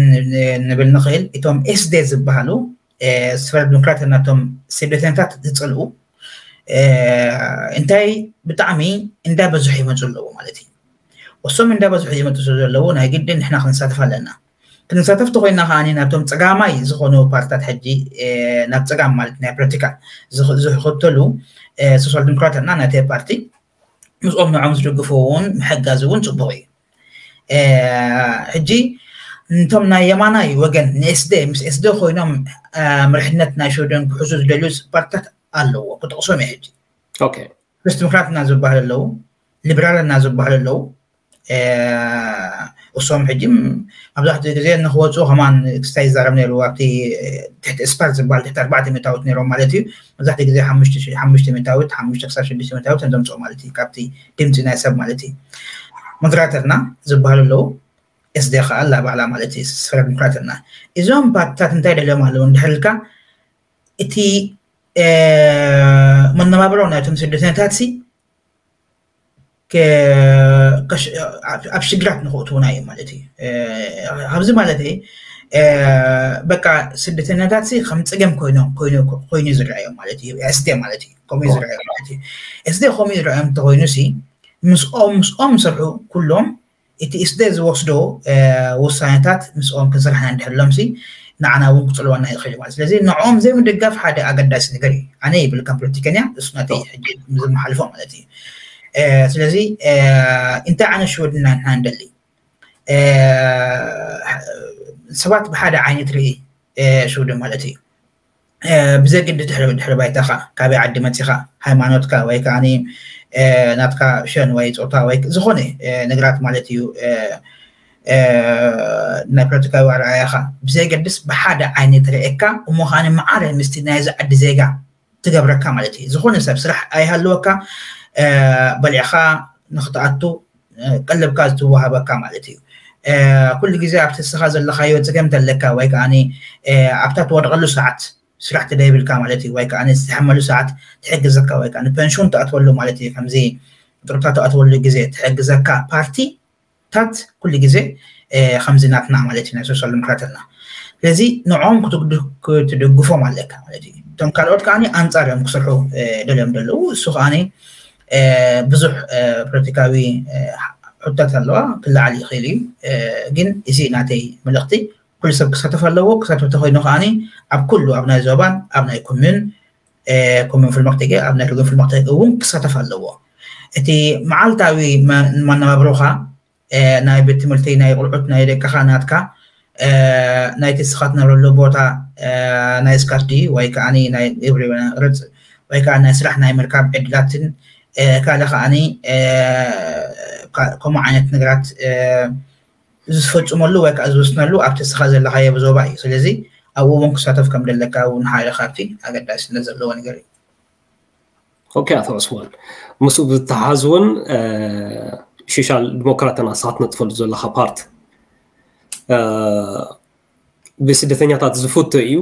ንብል ንኽእል? እቶም ኤስዴ ዝበሃሉ ስፈር ዲሞክራት ናቶም ስደተኛታት ዝፅልኡ እንታይ ብጣዕሚ እንዳበዝሑ ይመፁ ኣለዉ ማለት እዩ። እሶም እንዳበዝሑ ይመፁ ስለ ዘለዉ ናይ ግድን ንሕና ክንሳተፍ ኣለና። ክንሳተፍ ተኮይና ከዓኒ ናብቶም ፀጋማይ ዝኾኑ ፓርትታት ሕጂ ናብ ፀጋም ማለት ናይ ፖለቲካ ዝኽተሉ ሶሻል ዲሞክራት እና ናተ ፓርቲ ምስኦም ንዖም ዝድግፉ እውን ምሕጋዝ እውን ፅቡቅ እዩ። ሕጂ እንቶም ናይ የማናይ ወገን ንኤስደ ምስ ኤስደ ኮይኖም መርሕነት ናይ ሽወደን ክሕዙ ዝደልዩ ፓርትታት ኣለዎ። ክጠቕሶም እየ ሕጂ። ክሪስት ዲሞክራት እና ዝበሃል ኣለዉ፣ ሊበራል እና ዝበሃል ኣለዉ። እሶም ሕጂ መብዛሕትኡ ግዜ ንክወፁ ከማን ክስታይ ይዛረብ ነይሩ። ኣብቲ ትሕቲ ስፓር ዝበሃል ትሕቲ ኣርባዕተ ሚእታዊት ነይሮም ማለት እዩ። መብዛሕትኡ ግዜ ሓሙሽተ ሚእታዊት፣ ሓሙሽተ ክሳብ ሽዱሽተ ሚእታዊት ዘምፅኦ ማለት እዩ ካብቲ ድምፂ ናይ ሰብ ማለት እዩ። ሞደራተርና ዝበሃሉ ኣለዉ። ኤስደ ከዓ ኣላ ባዕላ ማለት እዩ ስፈረ ዲሞክራተርና። እዞም ፓርትታት እንታይ ደልዮም ኣለዉ እንድሕር ኢልካ እቲ መነባብሮ ናይቶም ስደተኛታት ሲ ኣብ ሽግራት ንክእትውና እዩ ማለት እዩ። ኣብዚ ማለት በቃ ስደተኛታት ሲ ከም ፀገም ኮይኖም ኮይኑ ዝረኣዮም ማለት እዩ። ኤስደ ማለት እዩ ከምኡ ዝረኣዮም ማለት እዩ። ኤስደ ከምኡ ዝረኣዮም እንተኮይኑ ሲ ምስኦም ምስኦም ዝሰርሑ ኩሎም እቲ ኢስደ ዝወስዶ ውሳኔታት ምስኦም ክንሰርሕ ኢና እንድሕር ኢሎም ሲ ንዓና እውን ክፅልወና ይኽእል ማለት። ስለዚ ንዕኦም ዘይምድጋፍ ሓደ ኣገዳሲ ነገር እዩ። ኣነ ይብል ከም ፖለቲከኛ እሱ ናተይ ሕጂ ዝመሓልፎ ማለት እዩ። ስለዚ እንታይ ዓይነት ሽወደን ኢና ንሕና ንደሊ? ሰባት ብሓደ ዓይነት ርኢ ሽወደን ማለት እዩ። ብዘይ ግዲ ድሕሪ ድሕሪ ባይታኻ ካበይ ዓዲ መፂኻ ሃይማኖትካ ወይ ከዓ ናትካ ሸን ወይ ፆታ ወይ ዝኾነ ነገራት ማለት እዩ ናይ ፖለቲካዊ ኣረኣያኻ ብዘይ ገድስ ብሓደ ዓይነት ርኤካ እሞ ከዓ መዓረ ምስቲ ናይዚ ዓዲ ዜጋ ትገብረካ ማለት እዩ። ዝኾነ ሰብ ስራሕ ኣይሃለወካ በሊዕኻ ንክትኣቱ ቀለብካ ዝትወሃበካ ማለት እዩ። ኩሉ ግዜ ኣብቲ ንስኻ ዘለኻዮ ፀገም ተለካ ወይ ከዓ ኣብታ ትወድቐሉ ሰዓት ስራሕ ተደይብልካ ማለት እዩ ወይ ከዓ ዝተሓመሉ ሰዓት ትሕግዘካ ወይ ከዓ ንፐንሽን ትኣትወሉ ማለት እዩ። ከምዚ ጥሩታ ትኣትወሉ ግዜ ትሕግዘካ ፓርቲታት ኩሉ ግዜ ከምዚ ናትና ማለት እዩ ናይ ሶሻል ዲሞክራትና። ስለዚ ንዕኦም ክትድግፎም ኣለካ ማለት እዩ። እቶም ካልኦት ከዓ ኣንፃር እዮም ክሰርሑ ደልዮም ደለዉ እሱ ከዓ ብዙሕ ፖለቲካዊ ሕቶታት ኣለዋ፣ ክለዓል ይኽእል እዩ። ግን እዚ ናተይ መልእኽቲ፣ ኩሉ ሰብ ክሳተፍ ኣለዎ። ክሳተፍ ተኮይኑ ከዓኒ ኣብ ኩሉ፣ ኣብ ናይ ዞባን ኣብ ናይ ኮሚዩን፣ ኮሚዩን ፍልመክተገ፣ ኣብ ናይ ርግን ፍልመክተገ እውን ክሳተፍ ኣለዎ። እቲ መዓልታዊ መነባብሮኻ፣ ናይ ቤት ትምህርቲ፣ ናይ ቁልዑት፣ ናይ ደቅኻ፣ ናትካ፣ ናይቲ ንስኻ ትነብረሉ ቦታ፣ ናይ ስካት ድዩ ወይ ከዓኒ ናይ ግብሪ፣ ወይ ከዓ ናይ ስራሕ ናይ ምርካብ ዕድላትን ካልእ ከዓኒ ከምኡ ዓይነት ነገራት ዝፈፅመሉ ወይ ከዓ ዝወስነሉ ኣብቲ ንስኻ ዘለኻዮ ዞባ እዩ። ስለዚ ኣብኡ እውን ክሳተፍ ከም ደለካ እውን ሓደ ካብቲ ኣገዳስነት ዘለዎ ነገር እዩ። ኦኬ፣ ኣቶ ዑስማን፣ ምስኡ ብዝተሓዝ እውን ሶሻል ዲሞክራትና ንስኻ ትነጥፈሉ ዘለኻ ፓርት ብስደተኛታት ዝፍቶ እዩ።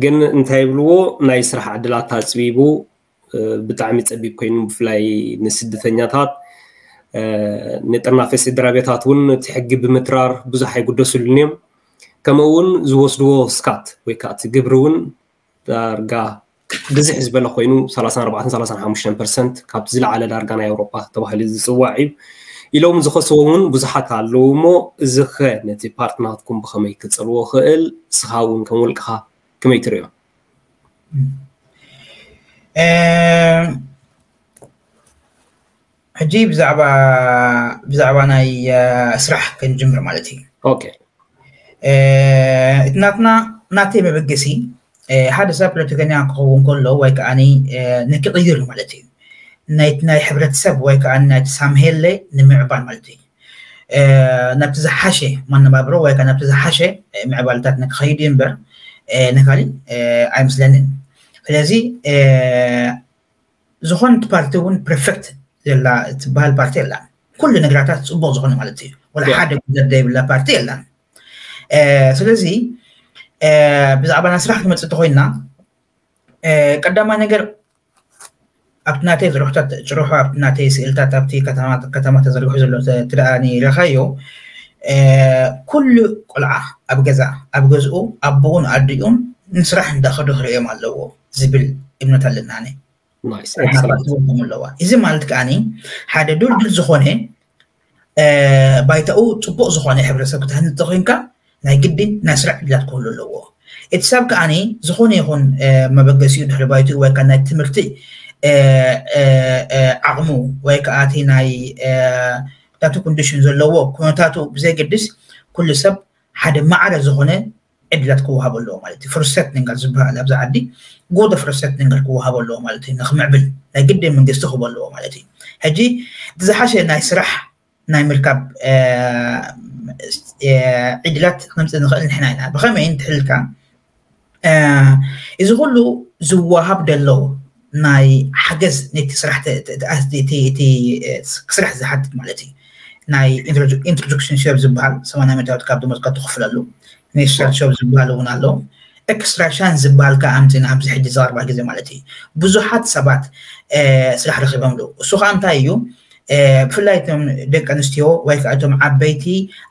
ግን እንታይ ይብልዎ፣ ናይ ስራሕ ዕድላት ኣፅቢቡ፣ ብጣዕሚ ፀቢብ ኮይኑ፣ ብፍላይ ንስደተኛታት፣ ንጥርናፈ ስድራ ቤታት እውን እቲ ሕጊ ብምትራር ብዙሕ ኣይጉደስሉን እዮም። ከምኡ እውን ዝወስድዎ ስካት ወይ ከዓ እቲ ግብሪ እውን ዳርጋ ብዝሕ ዝበለ ኮይኑ፣ ሰላሳን ኣርባዕተን ሰላሳን ሓሙሽተን ፐርሰንት ካብቲ ዝለዓለ ዳርጋ ናይ ኣውሮፓ ተባሂሉ ዝፅዋዕ እዩ ኢሎም ዝኸስዎ እውን ብዙሓት ኣለዉ። እሞ እዚ ኸ ነቲ ፓርት ናትኩም ብኸመይ ክፀልዎ ክእል? እስኻ እውን ከም ውልቅኻ ከመይ ትርእዮ? ሕጂ ብዛዕባ ብዛዕባ ናይ ስራሕ ክንጅምር ማለት እዩ። ኦኬ። እቲ ናትና ናተይ መበገሲ፣ ሓደ ሰብ ፖለቲከኛ ክኸውን ከሎ ወይ ከዓኒ ንክቕይር ማለት እዩ። ናይቲ ናይ ሕብረተሰብ ወይ ከዓ ናይቲ ሳምሄለ ንምዕባል ማለት እዩ። ናብቲ ዝሓሸ መነባብሮ ወይ ከዓ ናብቲ ዝሓሸ ምዕባልታት ንክኸይድ እዩ እምበር ንካሊእ ኣይመስለንን። ስለዚ ዝኾነት ፓርቲ እውን ፐርፌክት ዘላ ትበሃል ፓርቲ የላን። ኩሉ ነገራታት ፅቡቅ ዝኾነ ማለት እዩ። ወላ ሓደ ጉድለት ዘይብላ ፓርቲ የላን። ስለዚ ብዛዕባ ናይ ስራሕ ክመፅእ እንተኮይና፣ ቀዳማይ ነገር ኣብቲ ናተይ ዝርሕታት ጭርሖ፣ ኣብቲ ናተይ ስእልታት፣ ኣብቲ ከተማ ተዘርግሑ ዘሎ ትደኣኒ ረኻዮ፣ ኩሉ ቆልዓ ኣብ ገዛ ኣብ ገዝኡ ኣቦኡን ኣዲኡን ንስራሕ እንዳኸዱ ክርእዮም ኣለዎ ዝብል እምነት ኣለና። ኣለዋ። እዚ ማለት ከዓኒ ሓደ ድልድል ዝኾነ ባይታኡ ፅቡቅ ዝኾነ ሕብረተሰብ ክትሃንፅ ተኮይንካ ናይ ግድን ናይ ስራሕ ዕድላት ክህሉ ኣለዎ። እቲ ሰብ ከዓኒ ዝኾነ ይኹን መበገሲኡ ድሕሪ ባይትኡ ወይ ናይ ትምህርቲ ዓቕሙ ወይ ከዓ እቲ ናይ ናቱ ኮንዲሽን ዘለዎ ኩነታቱ ብዘይገድስ ኩሉ ሰብ ሓደ ማዕረ ዝኾነ ዕድላት ክወሃቦ ኣለዎ ማለት እዩ። ፍርሰት ንንጋር ዝበሃል ኣብዚ ዓዲ ጎደ ፍርሰት ንንጋር ክወሃቦ ኣለዎ ማለት እዩ። ንክምዕብል ናይ ግድን መንግስቲ ክህቦ ኣለዎ ማለት እዩ። ሕጂ እቲ ዝሓሸ ናይ ስራሕ ናይ ምርካብ ዕድላት ክነምፅእ ንኽእል ንሕና ኢና። ብኸመይ እንትሕልካ እዚ ኩሉ ዝወሃብ ደሎ ናይ ሓገዝ ነቲ ስራሕ ክስራሕ ዝሓትት ማለት እዩ። ናይ ኢንትሮዳክሽን ሾፕ ዝበሃል ሰማንያ ሚእታዊት ካብ ደሞዝካ ትኽፍለሉ፣ ኢኒሻል ሾፕ ዝበሃል እውን ኣሎ። ኤክስትራ ቻንስ ዝበሃል ከዓ ኣምፅና ኣብዚ ሕጂ ዝቐርባ ግዜ ማለት እዩ። ብዙሓት ሰባት ስራሕ ረኺቦምሉ። እሱ ከዓ እንታይ እዩ? ብፍላይ እቶም ደቂ ኣንስትዮ ወይ ከዓ እቶም ዓበይቲ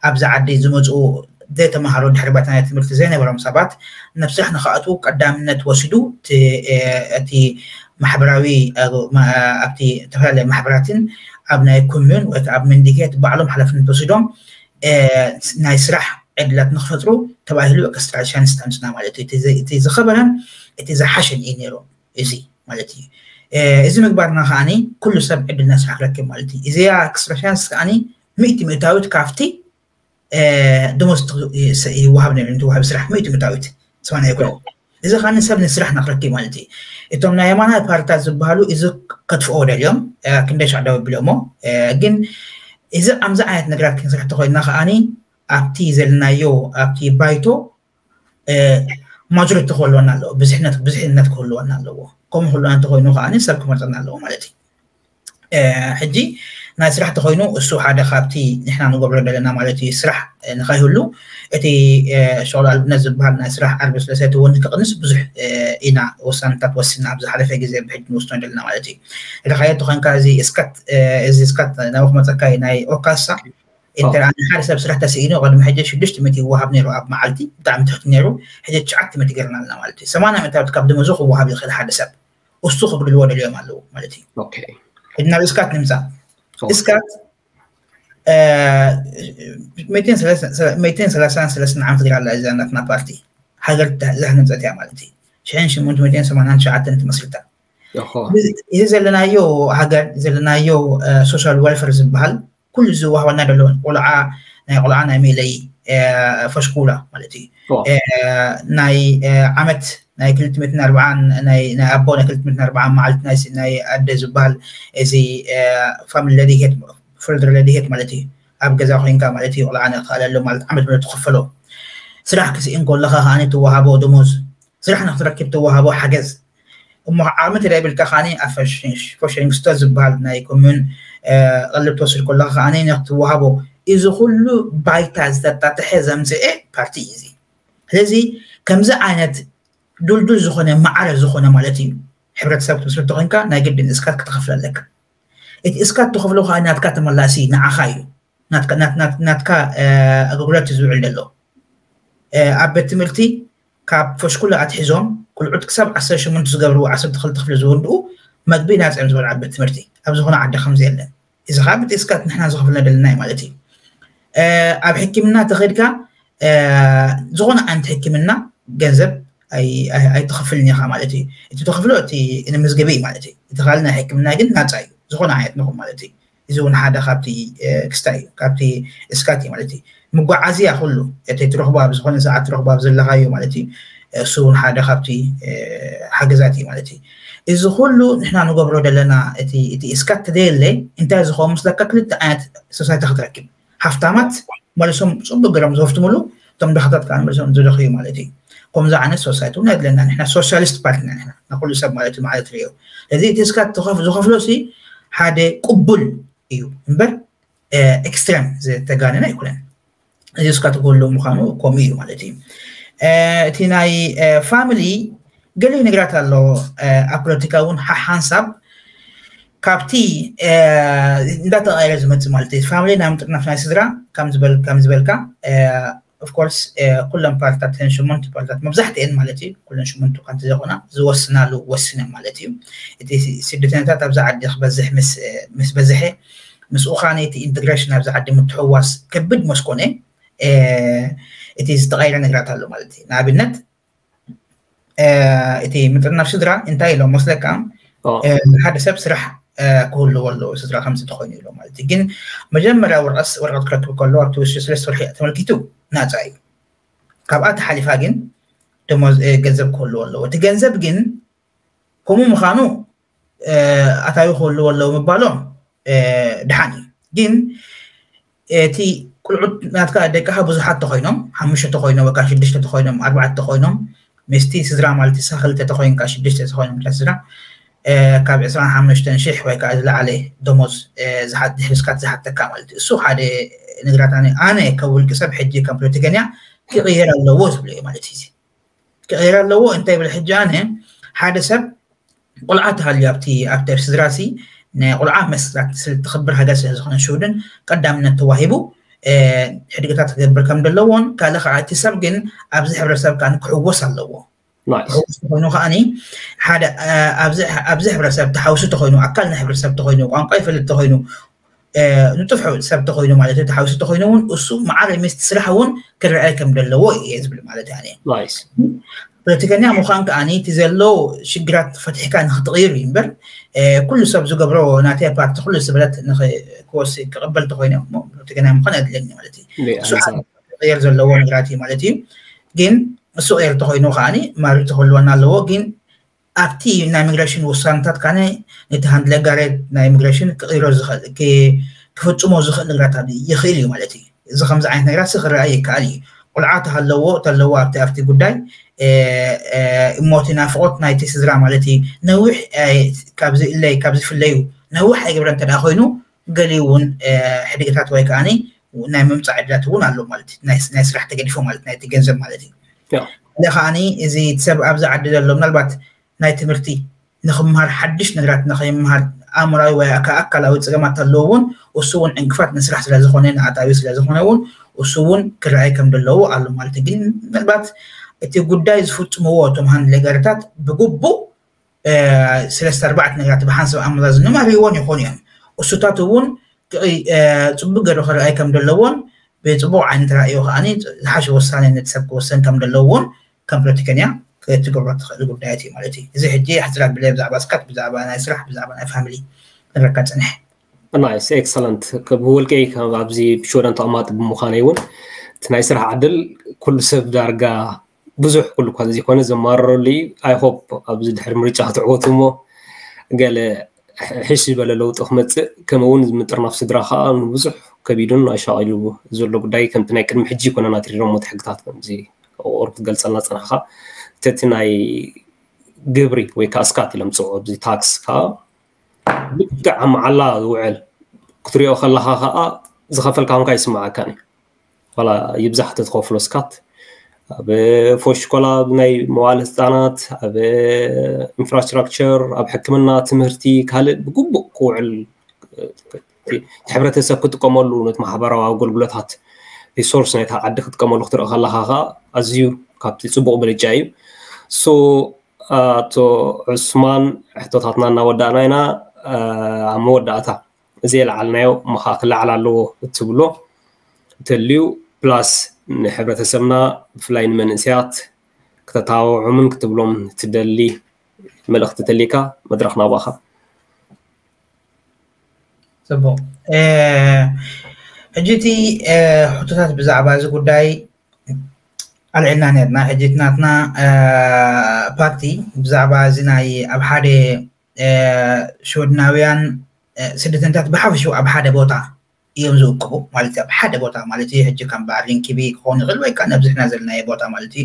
ኣብዚ ዓዲ ዝመፁ ዘይተምሃሩ ድሕሪ ባይታ ናይ ትምህርቲ ዘይነበሮም ሰባት ናብ ስራሕ ንክኣትዉ ቀዳምነት ወሲዱ እቲ ማሕበራዊ ኣብቲ ዝተፈላለዩ ማሕበራትን ኣብ ናይ ኮሚዩን ወይ ከዓ ኣብ መንዲኬት ባዕሎም ሓላፍነት ወሲዶም ናይ ስራሕ ዕድላት ንክፈጥሩ ተባሂሉ ኤክስትራ ቻንስ ተምፅና ማለት እዩ። እቲ ዝኸበረን እቲ ዝሓሸን እዩ ነይሩ እዚ ማለት እዩ። እዚ ምግባርና ከዓኒ ኩሉ ሰብ ዕድል ናይ ስራሕ ክረክብ ማለት እዩ። እዚኣ ኤክስትራ ቻንስ ከዓኒ ሚእቲ ሚእታዊት ካብቲ ደሞዝ ይወሃብ ነይሩ፣ እንትወሃብ ስራሕ ሚእቲ ሚእታዊት ሰማንያ ይኮነ። እዚ ከዓኒ ሰብ ንስራሕ ንክረክብ ማለት እዩ። እቶም ናይ የማናይ ፓርትታት ዝበሃሉ እዚ ከጥፍኦ ደልዮም ክንደይ ሻዕ ደው ኣቢሎሞ። ግን እዚ ኣምዚ ዓይነት ነገራት ክንስራሕ ተኮይንና ከዓኒ ኣብቲ ዘለናዮ ኣብቲ ባይቶ ማጆሪቲ ክህልወና ኣለዎ፣ ብዝሕነት ብዝሕነት ክህልወና ኣለዎ። ከምኡ ክህልወና እንተኮይኑ ከዓኒ ሰብ ክመርፀና ኣለዎ ማለት እዩ። ሕጂ ናይ ስራሕ ተኮይኑ እሱ ሓደ ካብቲ ንሕና ንገብሮ ዘለና ማለት እዩ። ስራሕ ንኸይህሉ እቲ ሸቕሎ ኣልብነት ዝበሃል ናይ ስራሕ ዓርቢ ስለሰይቲ እውን ክቕንስ ብዙሕ ኢና ውሳነታት ወሲና ኣብ ዝሓለፈ ግዜ ብሕጂ ንወስኖ ዘለና ማለት እዩ። ርኻዮ ተኾንካ እዚ እስካት እዚ እስካት ናብኡ ክመፀካ እዩ ናይ ኦካሳ እንተ ሓደ ሰብ ስራሕ ተስኢኑ ቅድሚ ሕጂ ሽዱሽተ ሚእቲ ይወሃብ ነይሩ ኣብ መዓልቲ ብጣዕሚ ትሕቲ ነይሩ። ሕጂ ትሽዓተ ሚእቲ ገርና ኣለና ማለት እዩ። ሰማንያ ሚእታዊት ካብ ደመዙ ክወሃብ ይኽእል ሓደ ሰብ እሱ ክብልዎ ደልዮም ኣለዉ ማለት እዩ። ሕጂ ናብ እስካት ንምፃእ እስካት ሚእትን ሰላሳን ሰለስተ ዓመት ገይራ ኣላ እዛ ናትና ፓርቲ። ሃገር ዝሃነፀት እያ ማለት እዩ። ሽሕን ሽሞንተ ሚእትን ሰማንያን ትሽዓተን ትመስርታ። እዚ ዘለናዮ ሃገር ዘለናዮ ሶሻል ዌልፌር ዝበሃል ኩሉ ዝዋሃበና ዘሎ ቆልዓ ናይ ቆልዓ ናይ መለይ ፈሽኩላ ማለት እዩ። ናይ ዓመት ናይ ክልተ ሚእትን ኣርባዓን ናይ ኣቦ ናይ ክልተ ሚእትን ኣርባዓን መዓልቲ ናይ ኣደ ዝበሃል እዚ ፋሚሊ ለዲሄት ፍርድ ረድኤት ማለት እዩ። ኣብ ገዛ ኮይንካ ማለት እዩ ቆልዓ ንክኣለሉ ማለት ዓመት ብለ ትኸፈሎ። ስራሕ ክስኢን ከለካ ከዓኒ ትወሃቦ ደሞዝ፣ ስራሕ ንክትረክብ ትወሃቦ ሓገዝ። እሞ ዓቕሚ ተደይብልካ ከዓኒ ኣብ ፎሽንግስቶ ዝበሃል ናይ ኮሙን ቀልብ ትወስድ ከለካ ከዓኒ ንክትወሃቦ። እዚ ኩሉ ባይታ ዝተጣጥሐ ዘምፅኤ ፓርቲ እዩ እዚ። ስለዚ ከምዚ ዓይነት ዱልዱል ዝኾነ ማዕረ ዝኾነ ማለት እዩ ሕብረተሰብ ክትምስርት ኮይንካ ናይ ግድን እስካት ክትኸፍል ኣለካ። እቲ እስካት ትኸፍሎ ከዓ ናትካ ተመላሲ ንዓኻ እዩ። ናትካ ኣገልግሎት ዝውዕል ዘሎ ኣብ ቤት ትምህርቲ ካብ ፈሽኩላ ኣትሒዞም ቁልዑት ክሳብ ዓሰርተ ሸሞንተ ዝገብርዎ ዓሰርተ ክልተ ክፍሊ ዝወድኡ መግቢ ናፅኦም ዝበልዓ ቤት ትምህርቲ ኣብ ዝኾነ ዓዲ ከምዚ የለን። እዚ ከዓ ብቲ እስካት ንሕና ዝኸፍልና ደለና እዩ ማለት እዩ። ኣብ ሕክምና ተኸድካ ዝኾነ ዓይነት ሕክምና ገንዘብ ኣይትኸፍልን ኢኻ ማለት እዩ። እቲ ተኸፍሎ እቲ ንመዝገቢ እዩ ማለት እዩ። እቲ ካልእ ናይ ሕክምና ግን ናፃ እዩ። ዝኾነ ዓይነት ንኹን ማለት እዩ። እዚ እውን ሓደ ካብቲ ክስታይ እዩ፣ ካብቲ እስካት እዩ ማለት እዩ። መጓዓዝያ ኩሉ እቲ ትረኽቦ ኣብ ዝኾነ ሰዓት ትረኽቦ ኣብ ዘለኻዮ ማለት እዩ። እሱ እውን ሓደ ካብቲ ሓገዛት እዩ ማለት እዩ። እዚ ኩሉ ንሕና ንገብሮ ዘለና እቲ እስካት ተደየለ እንታይ ዝኸውን ምስለካ ክልተ ዓይነት ሶሳይቲ ክትረክብ። ሃፍታማት መሊሶም ፅቡቅ ገይሮም ዝወፍትምሉ፣ እቶም ድኻታት ከዓ መሊሶም ዝደኽዩ ማለት እዩ። ከምዚ ዓይነት ሶሳይቲ እውን ኣድለና። ንሕና ሶሻሊስት ፓርቲ ኢና ንሕና ንኩሉ ሰብ ማለት እዩ ማለት ሪኦ። ስለዚ እቲ እስካት ዝኸፍሎ ሲ ሓደ ቅቡል እዩ እምበር ኤክስትረም ዝተጋነነ ኣይኮነን። እዚ እስካት ክህሉ ምዃኑ ከምኡ እዩ ማለት እዩ። እቲ ናይ ፋሚሊ ገሊኡ ነገራት ኣሎ። ኣብ ፖለቲካ እውን ሓሓንሳብ ካብቲ እንዳተቐየረ ዝመፅእ ማለት እዩ። ፋሚሊ ናብ ምጥርናፍ ናይ ስድራ ከም ዝበልካ ኦፍኮርስ ኩለን ፓርትታት ተን ሸሞንተ ፓርትታት መብዛሕትአን ማለት እዩ ኩለን ሸሞንተ እኳ እንተዘይኮና ዝወስናሉ ወሲነን ማለት እዩ። እቲ ስደተኛታት ኣብዚ ዓዲ ክበዝሕ ምስ በዝሐ ምስኡ ከዓ ነቲ ኢንተግሬሽን ኣብዚ ዓዲ ምትሕዋስ ከብድ መስኮነ እቲ ዝተቐየረ ነገራት ኣሎ ማለት እዩ። ንኣብነት እቲ ምጥርናፍ ስድራ እንታይ ኢሎም መስለካ ሓደ ሰብ ስራሕ ክህልዎ ኣለዎ ስድራ ከምዚ ተኮይኑ ኢሎ ማለት እዩ። ግን መጀመርያ ወረቀት ክረክብ ከሎ ኣብቲ ውሽጢ ሰለስተ ወርሒ ተመልኪቱ ናፃ እዩ። ካብኣ ተሓሊፋ ግን ደሞዝ ገንዘብ ክህልዎ ኣለዎ። እቲ ገንዘብ ግን ከምኡ ምዃኑ ኣታዊ ክህልዎ ኣለዎ ምባሎም ድሓን እዩ። ግን እቲ ቁልዑት ናትካ ደቅኻ ብዙሓት ተኮይኖም ሓሙሽተ ተኮይኖም ወይ ከዓ ሽዱሽተ ተኮይኖም ኣርባዕተ ተኮይኖም ምስቲ ስድራ ማለት ንስኻ ክልተ ተኮይንካ ሽዱሽተ ተኮይኖም እታ ስድራ ካብ ዕስራን ሓሙሽተን ሽሕ ወይ ከዓ ዝለዓለ ደሞዝ ድሕሪ እስካት ዝሓተካ ማለት እዩ። እሱ ሓደ ነገራት ኣነ ከም ውልቂ ሰብ ሕጂ ከም ፖለቲከኛ ክቕየር ኣለዎ ዝብሎ እዩ ማለት እዩ። ክቕየር ኣለዎ እንታይ ብል ሕጂ ኣነ ሓደ ሰብ ቆልዓ ተሃልዩ ኣብቲ ኣብቲ ኣብ ስድራ ሲ ናይ ቆልዓ መስላት ስለ ትኽብር ሃገር ስለ ዝኾነ ሽውድን ቀዳምነት ተዋሂቡ ሕድግታት ክገብር ከም ዘለዎን ካልእ ከዓ እቲ ሰብ ግን ኣብዚ ሕብረተሰብ ከዓ ክሕወስ ኣለዎ። ክሕወስ ኮይኑ ከዓኒ ሓደ ኣብዚ ሕብረተሰብ ተሓውሱ ተኮይኑ ኣካል ናይ ሕብረተሰብ ተኮይኑ ቋንቋ ይፈልጥ ተኮይኑ ንጡፍ ሰብ ተኮይኑ ማለት እዩ ተሓውሱ ተኮይኑ እውን እሱ መዓረ ምስቲ ስራሕ እውን ክረኣይ ከም ዘለዎ እየ ዝብል ማለት እየ። ፖለቲከኛ ምዃን ከዓኒ እቲ ዘሎ ሽግራት ፈትሕካ ንክትቕይር እዩ እምበር ኩሉ ሰብ ዝገብሮ ናተይ ፓርቲ ኩሉ ስብረት ክወስ ክቕበል ተኮይነ ፖለቲከኛ ምዃን ኣድለኒ ማለት እዩ። እሱ ቅየር ዘለዎ ነገራት እዩ ማለት እዩ። ግን እሱ ቅየር ተኮይኑ ከዓኒ ማሪ ተክህልወና ኣለዎ። ግን ኣብቲ ናይ ኢሚግሬሽን ውሳነታት ካነ ነቲ ሃንድለጋሬት ናይ ኢሚግሬሽን ክቕይሮ ዝኽእል ክፍፅሞ ዝኽእል ነገራት ይኽእል እዩ ማለት እዩ። እዚ ከምዚ ዓይነት ነገራት ክረኣይ ይከኣል እዩ። ቆልዓ ተሃለዎ ተለዎ ኣብቲ ኣብቲ ጉዳይ እሞቲ ናፍቆት ናይቲ ስድራ ማለት እዩ ነዊሕ ካብዚ እለይ ካብዚ ፍለዩ ነዊሕ ኣይገብረ እንተ ኮይኑ ገሊኡ እውን ሕድግታት ወይ ከዓኒ ናይ ምምፃእ ዕድላት እውን ኣሎ ማለት እዩ። ናይ ስራሕ ተገዲፎ ማለት ናይቲ ገንዘብ ማለት እዩ። ለ ከዓኒ እዚ ሰብ ኣብዚ ዓዲ ዘሎ ምናልባት ናይ ትምህርቲ ንክምሃር ሓድሽ ነገራት ንከይምሃር ኣእምራዊ ወይ ኣካላዊ ፀገማት ኣለዎ እውን እሱ እውን ዕንቅፋት ንስራሕ ስለዝኮነ ንኣታዊ ስለዝኮነ እውን እሱ እውን ክረኣይ ከም ዘለዎ ኣሎ ማለት እዩ። ግን ምናልባት እቲ ጉዳይ ዝፍፅምዎ እቶም ሃንድሌገርታት ብግቡእ ሰለስተ ኣርባዕተ ነገራት ብሓንሳብ ኣመዛዝኖም ኣርእይዎን ይኾኑ እዮም። እሱታት እውን ጽቡቅ ገይሩ ክረኣይ ከም ዘለዎን ብጽቡቅ ዓይነት ራእዩ ከዓኒ ዝሓሸ ውሳኔ ነቲ ሰብ ክወሰን ከም ዘለዎን ከም ፖለቲከኛ ክትገብሮ ትኽእል ጉዳያት እዩ ማለት እዩ። እዚ ሕጂ ሕፅራት ብለ ብዛዕባ ስካት ብዛዕባ ናይ ስራሕ ብዛዕባ ናይ ፋሚሊ ንረካ ፅንሕ። ናይስ ኤክሰለንት። ብውልቀይ ኣብዚ ሽወደን ተቐማጢ ብምዃነይ እውን እቲ ናይ ስራሕ ዕድል ኩሉ ሰብ ዳርጋ ብዙሕ ኩሉ እኳ ዘይኮነ ዘማረረሉ እዩ። ኣይ ሆፕ ኣብዚ ድሕሪ ምርጫ ክትዕወቱ እሞ ገለ ሕሽ ዝበለ ለውጢ ክመፅእ ከምኡ እውን ምጥርናፍ ስድራ ከዓ ብዙሕ ከቢዱን ኣሻቒሉ ዘሎ ጉዳይ ከምቲ ናይ ቅድሚ ሕጂ ይኮነና ትሪሮም ሞት ሕግታት ከምዚ ቁሩብ ክትገልፀልና ፀናሕካ እቲ ናይ ግብሪ ወይ ከዓ ስካት ኢሎም ፅውዑ ኣብዚ ታክስ ከዓ ልክዕ ኣብ መዓላ ዝውዕል ክትሪኦ ከለካ ከዓ ዝኸፈልካ ኮንካ ይስማዓካን እዩ። ዋላ ይብዛሕ ተትኸፍሎ ስካት ኣብ ፎሽኮላ ናይ መዋለ ህፃናት ኣብ ኢንፍራስትራክቸር ኣብ ሕክምና ትምህርቲ ካልእ ብግቡእ ክውዕል ሕብረተሰብ ክጥቀመሉ ነቲ ማሕበራዊ ኣገልግሎታት ሪሶርስ ናይታ ዓዲ ክጥቀመሉ ክትርኢ ከለካ ከዓ ኣዝዩ ካብቲ ፅቡቅ ብልጫ እዩ። ሶ ኣቶ ዑስማን ሕቶታትና እናወዳእና ኢና። ኣብ መወዳእታ እዚ የለዓልናዮ ምኻ ክለዓል ኣለዎ እትብሎ እንተልዩ ፕላስ ንሕብረተሰብና ብፍላይ ንመንእሰያት ክተታባብዖምን ክትብሎም ትደሊ መልእኽቲ ተሊካ መድረኽ ናባኻ። ጽቡቕ። ሕጂ እቲ ሕቶታት ብዛዕባ እዚ ጉዳይ ኣልዒልና ነርና። ሕጂ እቲ ናትና ፓርቲ ብዛዕባ እዚ ናይ ኣብ ሓደ ሽወድናውያን ስደተኛታት ብሓፈሽኡ ኣብ ሓደ ቦታ እዮም ዝእክቡ ማለት ኣብ ሓደ ቦታ ማለት እዩ። ሕጂ ከም በዓል ሪንኪቢ ክኸውን ይኽእል ወይ ከዓ ነብዝሕና ዘለናዮ ቦታ ማለት እዩ።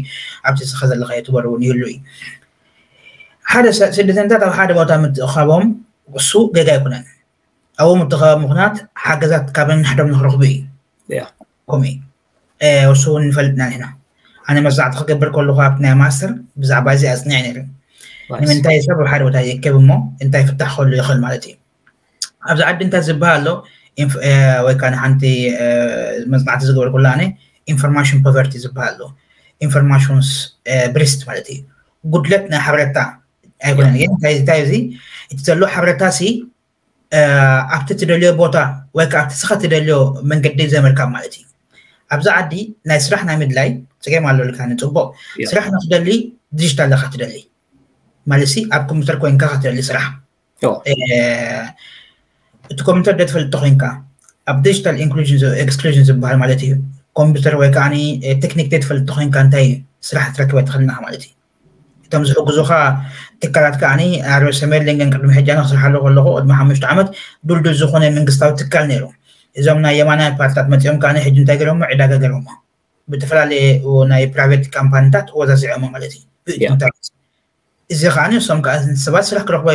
ኣብቲ ስኻ ዘለኻዮ ትበሩ እውን ይህሉ እዩ። ሓደ ስደተኛታት ኣብ ሓደ ቦታ ምትእኻቦም እሱ ገጋ ኣይኮነን። ኣብኡ ምትኸባ ምኽንያት ሓገዛት ካብ ነንሕዶም ንክረኽቡ እዩ። ከምኡ እዩ። እሱ እውን ንፈልጥና ንሕና። ኣነ መዛዕቲ ክገብር ከለኹ ኣብቲ ናይ ማስተር ብዛዕባ እዚ ኣፅኒዐ ነይሩ። ንምንታይ ሰብ ኣብ ሓደ ቦታ ይእከብ እሞ እንታይ ፍታሕ ክህሉ ይኽእል ማለት እዩ። ኣብዚ ዓዲ እንታይ ዝበሃል ኣሎ ወይ ከዓ ሓንቲ መፅናዕቲ ዝገበርኩላ ኣነ ኢንፎርማሽን ፖቨርቲ ዝበሃል ኣሎ። ኢንፎርማሽንስ ብሪስት ማለት እዩ። ጉድለት ናይ ሓበሬታ ኣይኮነን ግን እንታይ እዚ እቲ ዘሎ ሓበሬታ ሲ ኣብቲ ትደልዮ ቦታ ወይ ከዓ ኣብቲ ስኻ ትደልዮ መንገዲ ዘመልካ ማለት እዩ። ኣብዚ ዓዲ ናይ ስራሕ ናይ ምድላይ ፀገም ኣሎ ኢልካ ንፅቡቅ ስራሕ ንክደሊ ዲጂታል ኢኻ ትደሊ ማለት ሲ ኣብ ኮምፒውተር ኮይንካ ክትደሊ ስራሕ እቲ ኮምፒውተር ዶ ትፈልጥ ኮይንካ ኣብ ዲጂታል ኢንክሉዥን ኤክስክሉዥን ዝበሃል ማለት እዩ። ኮምፒውተር ወይ ከዓ ቴክኒክ ዶ ትፈልጥ ኮይንካ እንታይ ስራሕ ትረክበ ትኽእልና ማለት እዩ። እቶም ዝሕግዙኻ ትካላት ከዓ ኣርበ ሰሜን ሊንገን ቅድሚ ሕጂ ኣነ ክስርሓሉ ከለኹ ቅድሚ ሓሙሽተ ዓመት ዱልዱል ዝኾነ መንግስታዊ ትካል ነይሩ። እዞም ናይ የማናይ ፓርትታት መፂኦም ከዓ ሕጂ እንታይ ገይሮሞ ዕዳጋ ገይሮሞ ብተፈላለየ ናይ ፕራይቬት ካምፓኒታት ወዛዚዖሞ ማለት እዩ። እዚ ከዓ ንሶም ከዓ ሰባት ስራሕ ክረክቡ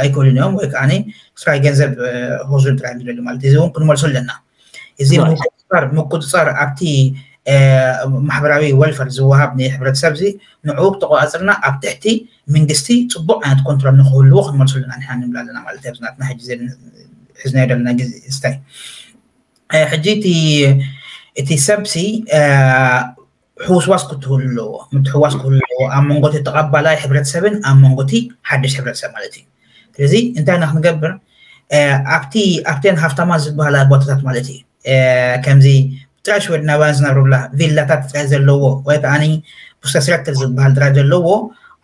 ኣይክእሉን እዮም ወይ ከዓ ስራሕ ገንዘብ ሆዙን ጥራይ ዝደሉ ማለት እዚ እውን ክንመልሶ ኣለና። እዚ ምቁፅፃር ኣብቲ ማሕበራዊ ወልፈር ዝወሃብ ንሕብረተሰብ እዚ ንዕኡ ክተቆፃፅርና ኣብ ትሕቲ መንግስቲ ፅቡቅ ዓይነት ኮንትሮል ንክህልዎ ክንመልሶ ኣለና ንሕና ንብል ኣለና ማለት እዩ። ናትና ሕዚ ሕዝናዮ ዘለና ግዜ ስታይ ሕጂ እቲ ሰብሲ ሕውስዋስ ክትህሉ ኣለዎ፣ ምትሕዋስ ክህሉ ኣለዎ ኣብ መንጎ እቲ ተቐባላይ ሕብረተሰብን ኣብ መንጎ እቲ ሓድሽ ሕብረተሰብ ማለት እዩ። ስለዚ እንታይ ኢና ክንገብር ኣብቲ ኣብተን ሃፍታማት ዝበሃላ ቦታታት ማለት እዩ ከምዚ ጥራይ ሽወድናውያን ዝነብሩላ ቪላታት ጥራይ ዘለዎ ወይ ከዓ ቡስተስረክል ዝበሃል ጥራይ ዘለዎ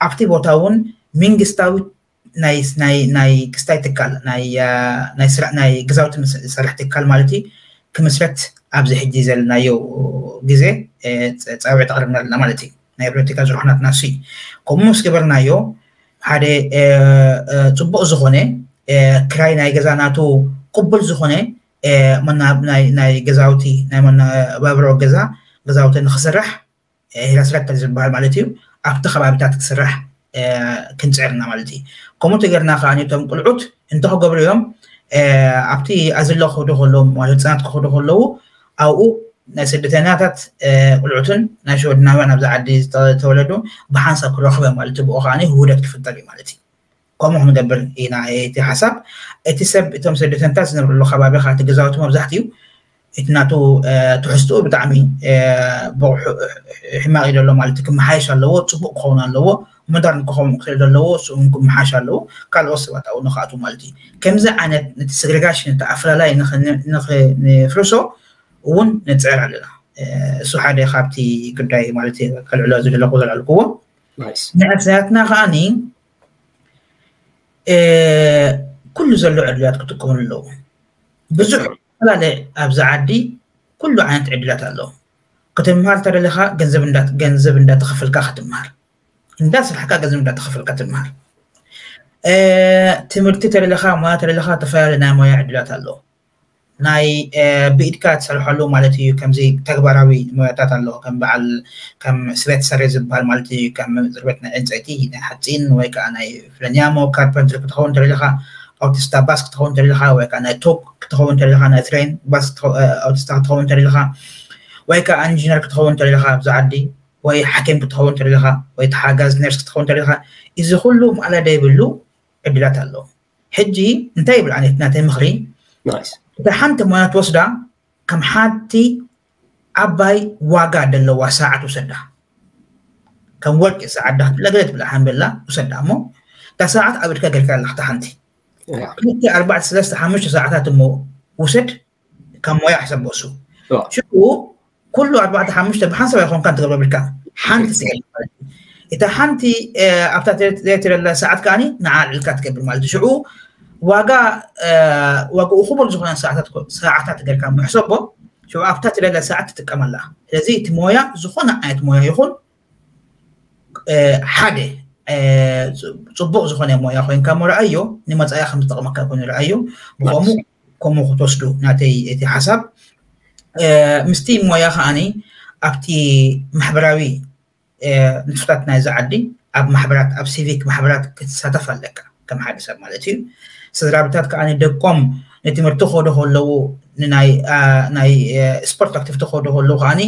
ኣብቲ ቦታ እውን መንግስታዊ ናይ ናይ ናይ ክስታይ ትካል ናይ ናይ ስራ ናይ ግዛውቲ ዝሰርሕ ትካል ማለት እዩ ክምስረት ኣብዚ ሕጂ ዘለናዮ ግዜ ፃውዒት ኣቕርብና ኣለና ማለት እዩ። ናይ ፖለቲካ ዝርኩናትና እሱ እዩ። ከምኡ ምስ ገበርናዮ ሓደ ፅቡቅ ዝኾነ ክራይ ናይ ገዛ ናቱ ቅቡል ዝኾነ ናይ ገዛውቲ ናይ መነባብሮ ገዛ ገዛውቲ ንክስራሕ ሄራስረክተር ዝበሃል ማለት እዩ ኣብቲ ከባቢታት ክስራሕ ክንፅዕርና ማለት እዩ። ከምኡ ተገርና ከዓ እቶም ቁልዑት እንተ ክገብሩ እዮም ኣብቲ ኣዝሎ ክኸዱ ከለዉ ማለት ህፃናት ክኸዱ ከለዉ ኣብኡ ናይ ስደተኛታት ቁልዑትን ናይ ሽወድናውያን ኣብዚ ዓዲ ዝተወለዱ ብሓንሳብ ክረኽበ ማለት ብኡ ከዓ ውህደት ክፍጠር እዩ ማለት እዩ። ከምኡ ክንገብር ኢና እቲ ሓሳብ። እቲ ሰብ እቶም ስደተኛታት ዝነብርሉ ከባቢ ከዓ እቲ ገዛውቲ መብዛሕትኡ እቲ ናቱ ትሕዝትኡ ብጣዕሚ ሕማቕ እዩ ዘሎ ማለት ክመሓየሽ ኣለዎ፣ ፅቡቕ ክኸውን ኣለዎ፣ ሞደርን ክኸውን ክእል ዘለዎ እሱ ክመሓሽ ኣለዎ። ካልኦት ሰባት ኣብኡ ንክኣቱ ማለት እዩ። ከምዚ ዓይነት ነቲ ሴግሬጋሽን እቲ ኣፈላላይ ንፍርሶ እውን ንፅዕር ኣለና። እሱ ሓደ ካብቲ ጉዳይ ማለት ከልዕሎ ዝደለኩ ዘልዓልክዎ። ንሕስያትና ከዓኒ ኩሉ ዘሎ ዕድላት ክጥቀምሉ ኣለዎ። ብዙሕ ዝተፈላለየ ኣብዚ ዓዲ ኩሉ ዓይነት ዕድላት ኣለዎ። ክትምሃር ተደለኻ ገንዘብ እንዳተኸፈልካ ክትምሃር፣ እንዳስራሕካ ገንዘብ እንዳተኸፈልካ ትምሃር። ትምህርቲ ተደለኻ፣ ሞያ ተደለኻ፣ ተፈላለየ ናይ ሞያ ዕድላት ኣለዎ። ናይ ብኢድካ ትሰርሐሉ ማለት እዩ። ከምዚ ተግባራዊ ሞያታት ኣለዎ፣ ከም በዓል ከም ስበት ሰሬ ዝበሃል ማለት እዩ። ከም ዝርበት ናይ ዕንፀይቲ፣ ናይ ሓፂን ወይ ከዓ ናይ ፍለንያሞ ካርፐንትሪ ክትኸውን ተደለኻ፣ ኣውቶስታ ባስ ክትኸውን ተደለኻ፣ ወይ ከዓ ናይ ቶክ ክትኸውን ተደለኻ፣ ናይ ትሬን ባስ ኣውቶስታ ክትኸውን ተደለኻ፣ ወይ ከዓ ኢንጂነር ክትኸውን ተደለኻ ኣብዚ ዓዲ፣ ወይ ሓኪም ክትኸውን ተደለኻ፣ ወይ ተሓጋዝ ነርስ ክትኸውን ተደለኻ፣ እዚ ኩሉ ማዕለዳ ይብሉ ዕድላት ኣለዎ። ሕጂ እንታይ ይብል ዓይነት ናተይ ምኽሪ፣ እታ ሓንቲ ሞያ ትወስዳ ከም ሓንቲ ዓባይ ዋጋ ደለዋ ሰዓት ውሰዳ። ከም ወርቂ ሰዓት ዳ ክትብላ ገለ ትብላ ሓንበላ ውሰዳ እሞ እታ ሰዓት ኣብ እድካ ጌርካ ኣለካ እታ ሓንቲ ክልተ ኣርባዕተ ሰለስተ ሓሙሽተ ሰዓታት እሞ ውሰድ። ካብ ሞያ ሕሰቦ እሱ ሽኡ ኩሉ ኣርባዕተ ሓሙሽተ ብሓንሳብ ኣይኮንካ ትገብሮ ብልካ ሓንቲ ትገብር ማለት እዩ። እታ ሓንቲ ኣብታ ትረላ ሰዓት ከዓኒ ንዓ ልዕልካ ትገብር ማለት እዩ። ሽዑ ዋጋ ዋጋኡ ክቡር ዝኾነ ሰዓታት ጌርካ ምሕሰቦ ሽዑ ኣብታ ትደለ ሰዓት ትጥቀመላ። ስለዚ እቲ ሞያ ዝኾነ ዓይነት ሞያ ይኹን ሓደ ፅቡቕ ዝኾነ ሞያ ኮይንካ ሞ ረኣዮ ንመፃኢ ከም ዝጠቕመካ ኮይኑ ረኣዮ። ብኸምኡ ከምኡ ክትወስዱ ናተይ እቲ ሓሳብ ምስቲ ሞያ ከዓኒ ኣብቲ ማሕበራዊ ንጥፈታት ናይዚ ዓዲ ኣብ ማሕበራት ኣብ ሲቪክ ማሕበራት ክትሳተፍ ኣለካ ከም ሓደ ሰብ ማለት እዩ። ስድራቤታት ከዓኒ ደቆም ንትምህርቲ ክኸዱ ከለዉ ናይ ስፖርት ኣክቲቪቲ ክኸዱ ከለዉ ከዓኒ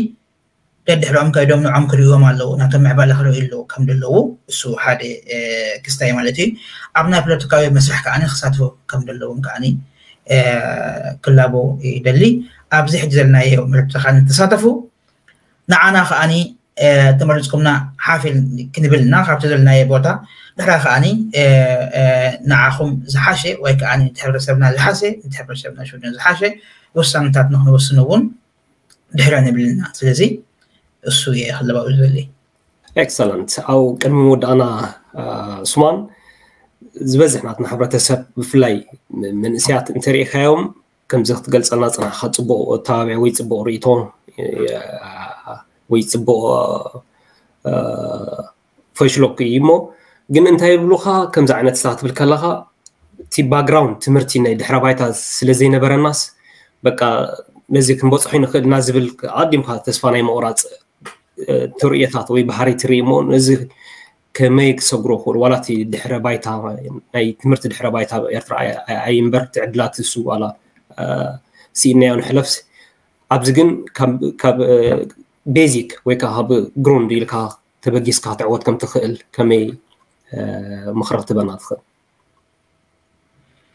ደድሕሮም ከይዶም ንዖም ክርእዎም ኣለዉ ናቶም ምዕባለ ክርእዩ ኣለዉ ከም ዘለዉ እሱ ሓደ ክስታይ ማለት እዩ። ኣብ ናይ ፖለቲካዊ መስርሕ ከዓኒ ክሳትፉ ከም ዘለዎም ከዓኒ ክላቦ ይደሊ። ኣብዚ ሕጂ ዘለናዮ ምርጫ ከዓኒ ተሳተፉ። ንዓና ከዓኒ ተመሪፅኩምና ሓፍ ክንብል እና ካብቲ ዘለናዮ ቦታ ድሕራ ከዓኒ ንዓኹም ዝሓሸ ወይ ከዓ እቲ ሕብረተሰብና ዝሓሸ እቲ ሕብረተሰብና ሽወደን ዝሓሸ ውሳነታት ንክንወስን እውን ድሕረ ንብልና። ስለዚ እሱ እየ ክለባዊ ዝደሊ። ኤክሰለንት። ኣብ ቅድሚ ምውዳእና ሱማን ዝበዝሕ ናትና ሕብረተሰብ ብፍላይ መንእስያት እንተሪኢካዮም ከምዚ ክትገልፀልና ፅናሕካ ፅቡቕ ኣተባብያ ወይ ፅቡቕ ርእይቶ ወይ ፅቡቕ ፈሽሎክ እዩ እሞ ግን እንታይ ይብሉካ ከምዚ ዓይነት ስታ ክትብል ከለካ እቲ ባክግራውንድ ትምህርቲ ናይ ድሕረ ባይታ ስለ ዘይነበረናስ በቃ ነዚ ክንበፅሖ ንኽእልና ዝብል ኣዲምካ ተስፋ ናይ ምቑራፅ ትርእየታት ወይ ባህሪ ትርኢ እሞ ነዚ ከመይ ክሰግሮ ክኽእል ዋላ እቲ ድሕረ ባይታ ናይ ትምህርቲ ድሕረ ባይታ ኤርትራ ኣይምበር እቲ ዕድላት እሱ ዋላ ስኢናዮ ንሕለፍስ ኣብዚ ግን ካብ ቤዚክ ወይ ከዓ ካብ ግሩንድ ኢልካ ተበጊስካ ክትዕወት ከም ትኽእል ከመይ ምኽሪ ክትበና ትኽእል?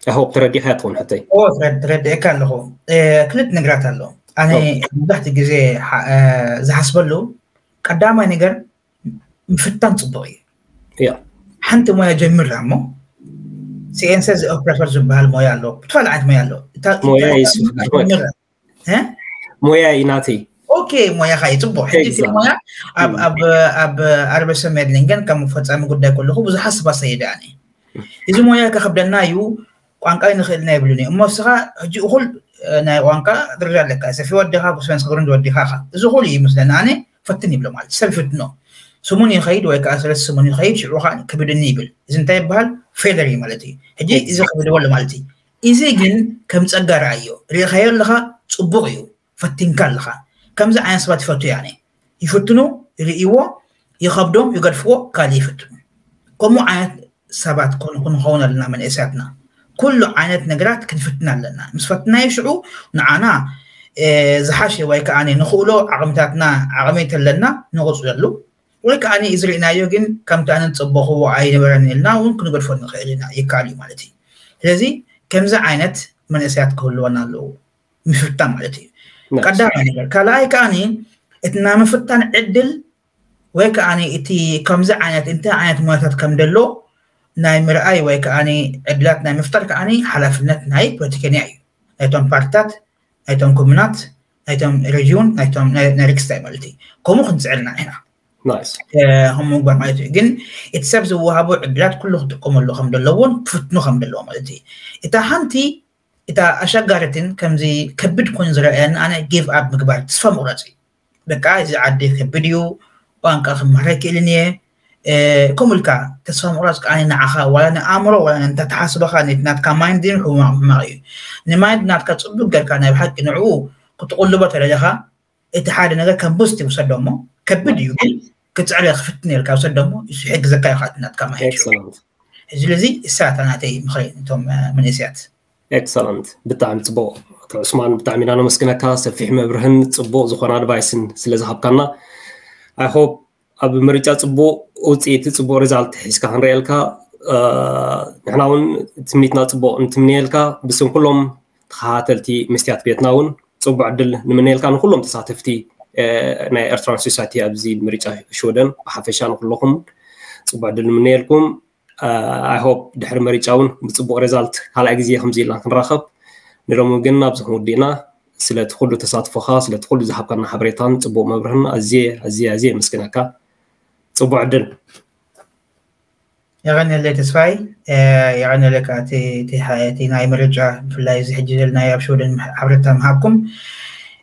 ኣሆብ ተረዲኻ ትኸውን ሕተይ ተረዲእካ ኣለኹ። ክልተ ነገራት ኣሎ። ኣነ መብዛሕትኡ ግዜ ዝሓስበሉ ቀዳማይ ነገር ምፍታን ፅቡቕ እዩ። ሓንቲ ሞያ ጀምራ እሞ ሲኤንሰ ኦፕሬተር ዝበሃል ሞያ ኣሎ። ብትፋል ዓይነት ሞያ ኣሎ። ሞያ እዩ ናተይ። ኦኬ ሞያኻ እዩ ፅቡቅ። ሕጂ እቲ ሞያ ኣብ ኣርበሰ ሜድሊንገን ከም ፈፃሚ ጉዳይ ከለኹ ብዙሓት ሰባት ሰይደ ኣነ እዚ ሞያ ከኸብደና እዩ ቋንቋ ንኽእልና ይብሉኒ እሞ እስኻ ሕጂ እኹል ናይ ቋንቋ ደረጃ ኣለካ ሰፊ ወዲኻ ብስፈንስ ክብርን ወዲኻ እዚ እኹል እዩ ይመስለኒ ኣነ ፈትን ይብሎ ማለት ሰብ ይፍትኖ ስሙን ይኸይድ ወይ ከዓ ሰለስተ ስሙን ይኸይድ ሽዑ ከዓ ክብድኒ ይብል እዚ እንታይ ይበሃል ፌለር እዩ ማለት እዩ ሕጂ እዚ ክብድዎ ኣሎ ማለት እዩ እዚ ግን ከም ጸጋ ረኣዮ ርኢኻዮ ኣለኻ ጽቡቕ እዩ ፈቲንካ ኣለኻ ከምዚ ዓይነት ሰባት ይፈቱ ያኔ ይፍትኑ ይርእይዎ ይኸብዶም ይገድፍዎ ካልእ ይፍትኑ ከምኡ ዓይነት ሰባት ክንኸውን ኣለና መንእስያትና ኩሉ ዓይነት ነገራት ክንፍትን ኣለና ምስ ፈትናዮ ሽዑ ንዓና ዝሓሸ ወይ ከዓ ንኽእሎ ዓቕምታትና ዓቕሚ ተለና ንቕፅለሉ ወይ ከዓ እዚ ርኢናዮ ግን ከምቲ ኣነ ዝፀበኽዎ ኣይነበረን ኢልና እውን ክንገድፎ ንኽእል ኢና ይከኣል እዩ ማለት እዩ ስለዚ ከምዚ ዓይነት መንእሰያት ክህልወና ኣለዎ ምፍታን ማለት እዩ ቀዳማይ ነገር። ካልኣይ ከዓኒ እቲ ናይ ምፍታን ዕድል ወይ ከዓኒ እቲ ከምዚ ዓይነት እንታይ ዓይነት ሞያታት ከም ደሎ ናይ ምርኣይ ወይ ከዓኒ ዕድላት ናይ ምፍጣር ከዓኒ ሓላፍነት ናይ ፖለቲከኛ እዩ። ናይቶም ፓርትታት፣ ናይቶም ኮሙናት፣ ናይቶም ሬጅዩን፣ ናይቶም ናይ ሪክስታይ ማለት እዩ። ከምኡ ክንፅዕር ኢና ኢና። ከም ምግባር ማለት እዩ። ግን እቲ ሰብ ዝወሃቦ ዕድላት ኩሉ ክጥቀመሉ ከም ዘለዎን ክፍትኑ ከም ዘለዎ ማለት እዩ። እታ ሓንቲ እታ ኣሸጋሪትን ከምዚ ከቢድ ኮይኑ ዝረኣየኒ ኣነ ጊቭ ኣፕ ምግባር፣ ተስፋ ምቑራፅ እዩ። በቃ እዚ ዓዲ ከቢድ እዩ፣ ቋንቋ ክመሃር ኣይክእልን እየ። ከምኡ ኢልካ ተስፋ ምቑራፅ ከዓኒ ንዓኻ ዋላ ንኣእምሮ ዋላ ንተተሓስበኻ ናትካ ማይንድ ሕማቕ እዩ። ንማይንድ ናትካ ፅቡቅ ጌርካ ናይ ብሓቂ ንዕኡ ክትቕልቦ ተደለኻ እቲ ሓደ ነገር ከም ቡስት ይውሰዶ እሞ ከቢድ እዩ፣ ግን ክፅዕረ ክፍትን ኢልካ ውሰዶ እሞ ይሕግዘካ እዩ። ናትካ ማይንድ ስለዚ እሳታ ናተይ ምኽሪ እቶም መንእስያት። ኤክሰለንት፣ ብጣዕሚ ፅቡቅ። ዑስማን፣ ብጣዕሚ ኢና ነመስግነካ፣ ሰፊሕ መብርህን ፅቡቅ ዝኾነ ኣድቫይስን ስለዝሃብካና። ኣይ ሆፕ ኣብ ምርጫ ፅቡቅ ውፅኢት፣ ፅቡቅ ሪዛልት ሒዝካ ክንርእየልካ ንሕና እውን ትምኒትና ፅቡቅ እንትምንየልካ ብስም ኩሎም ተኸታተልቲ መስትያት ቤትና እውን ፅቡቅ ዕድል ንምንየልካ። ንኩሎም ተሳተፍቲ ናይ ኤርትራን ሶሳይቲ ኣብዚ ምርጫ ሽወደን ብሓፈሻ ንኩለኹም ፅቡቅ ዕድል ንምንየልኩም። ኣይ ሆፕ ድሕሪ መሪጫ እውን ብፅቡቅ ሬዛልት ካልኣይ ግዜ ከምዚ ኢልና ክንራኸብ ንሎሚ ግን ኣብዚ ክንውድእና። ስለቲ ኩሉ ተሳትፎኻ ስለቲ ኩሉ ዝሃብካና ሓበሬታን ፅቡቅ መብርህን ኣዝየ ኣዝየ ኣዝየ የመስግነካ። ፅቡቅ ዕድል። የቐንየለይ ተስፋይ። የቐንየለካ እቲ ናይ ምርጫ ብፍላይ እዚ ሕጂ ዘልና ኣብ ሽወደን ሓበሬታ ምሃብኩም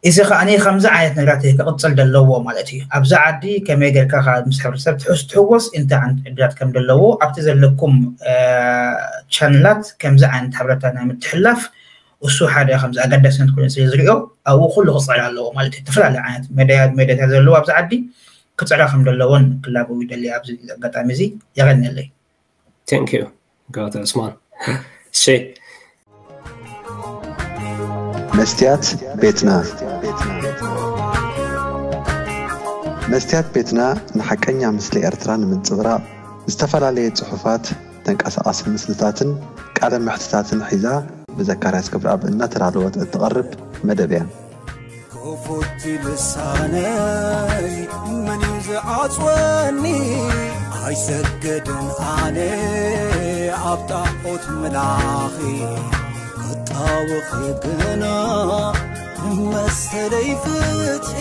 እዚ ከዓኒ ከምዚ ዓይነት ነገራት ክቕፅል ዘለዎ ማለት እዩ። ኣብዚ ዓዲ ከመይ ጌርካ ምስ ሕብረተሰብ ትሕስ ትሕወስ እንታይ ዓይነት ዕድላት ከም ዘለዎ ኣብቲ ዘለኩም ቻነላት ከምዚ ዓይነት ሓበሬታ ናይ ምትሕላፍ እሱ ሓደ ከምዚ ኣገዳስነት ኮይኑ ስለ ዝሪኦ ኣብኡ ኩሉ ክፅዕር ኣለዎ ማለት እዩ። ዝተፈላለዩ ዓይነት ሜድያታት ዘለዎ ኣብዚ ዓዲ ክፅዕራ ከም ዘለዎን ክላበው ይደሊ ኣብዚ ኣጋጣሚ እዚ። የቐንየለይ። Thank you ጋተ ዑስማን። እሺ መስትያት ቤትና መስትያት ቤትና ንሓቀኛ ምስሊ ኤርትራ ንምንጽብራቕ ዝተፈላለየ ጽሑፋት፣ ተንቀሳቓሲ ምስልታትን ቃለ መሕትታትን ሒዛ ብዘካርያስ ክብረኣብ እናተዳለወት እትቐርብ መደብ እያ። ክፉት ልሳነይ መን እዩ ዝዓጽወኒ? ኣይሰገድን ኣነ ኣብ ጣዖት ምላኺ ክጣወኺ ግና መሰለይ ፍትሒ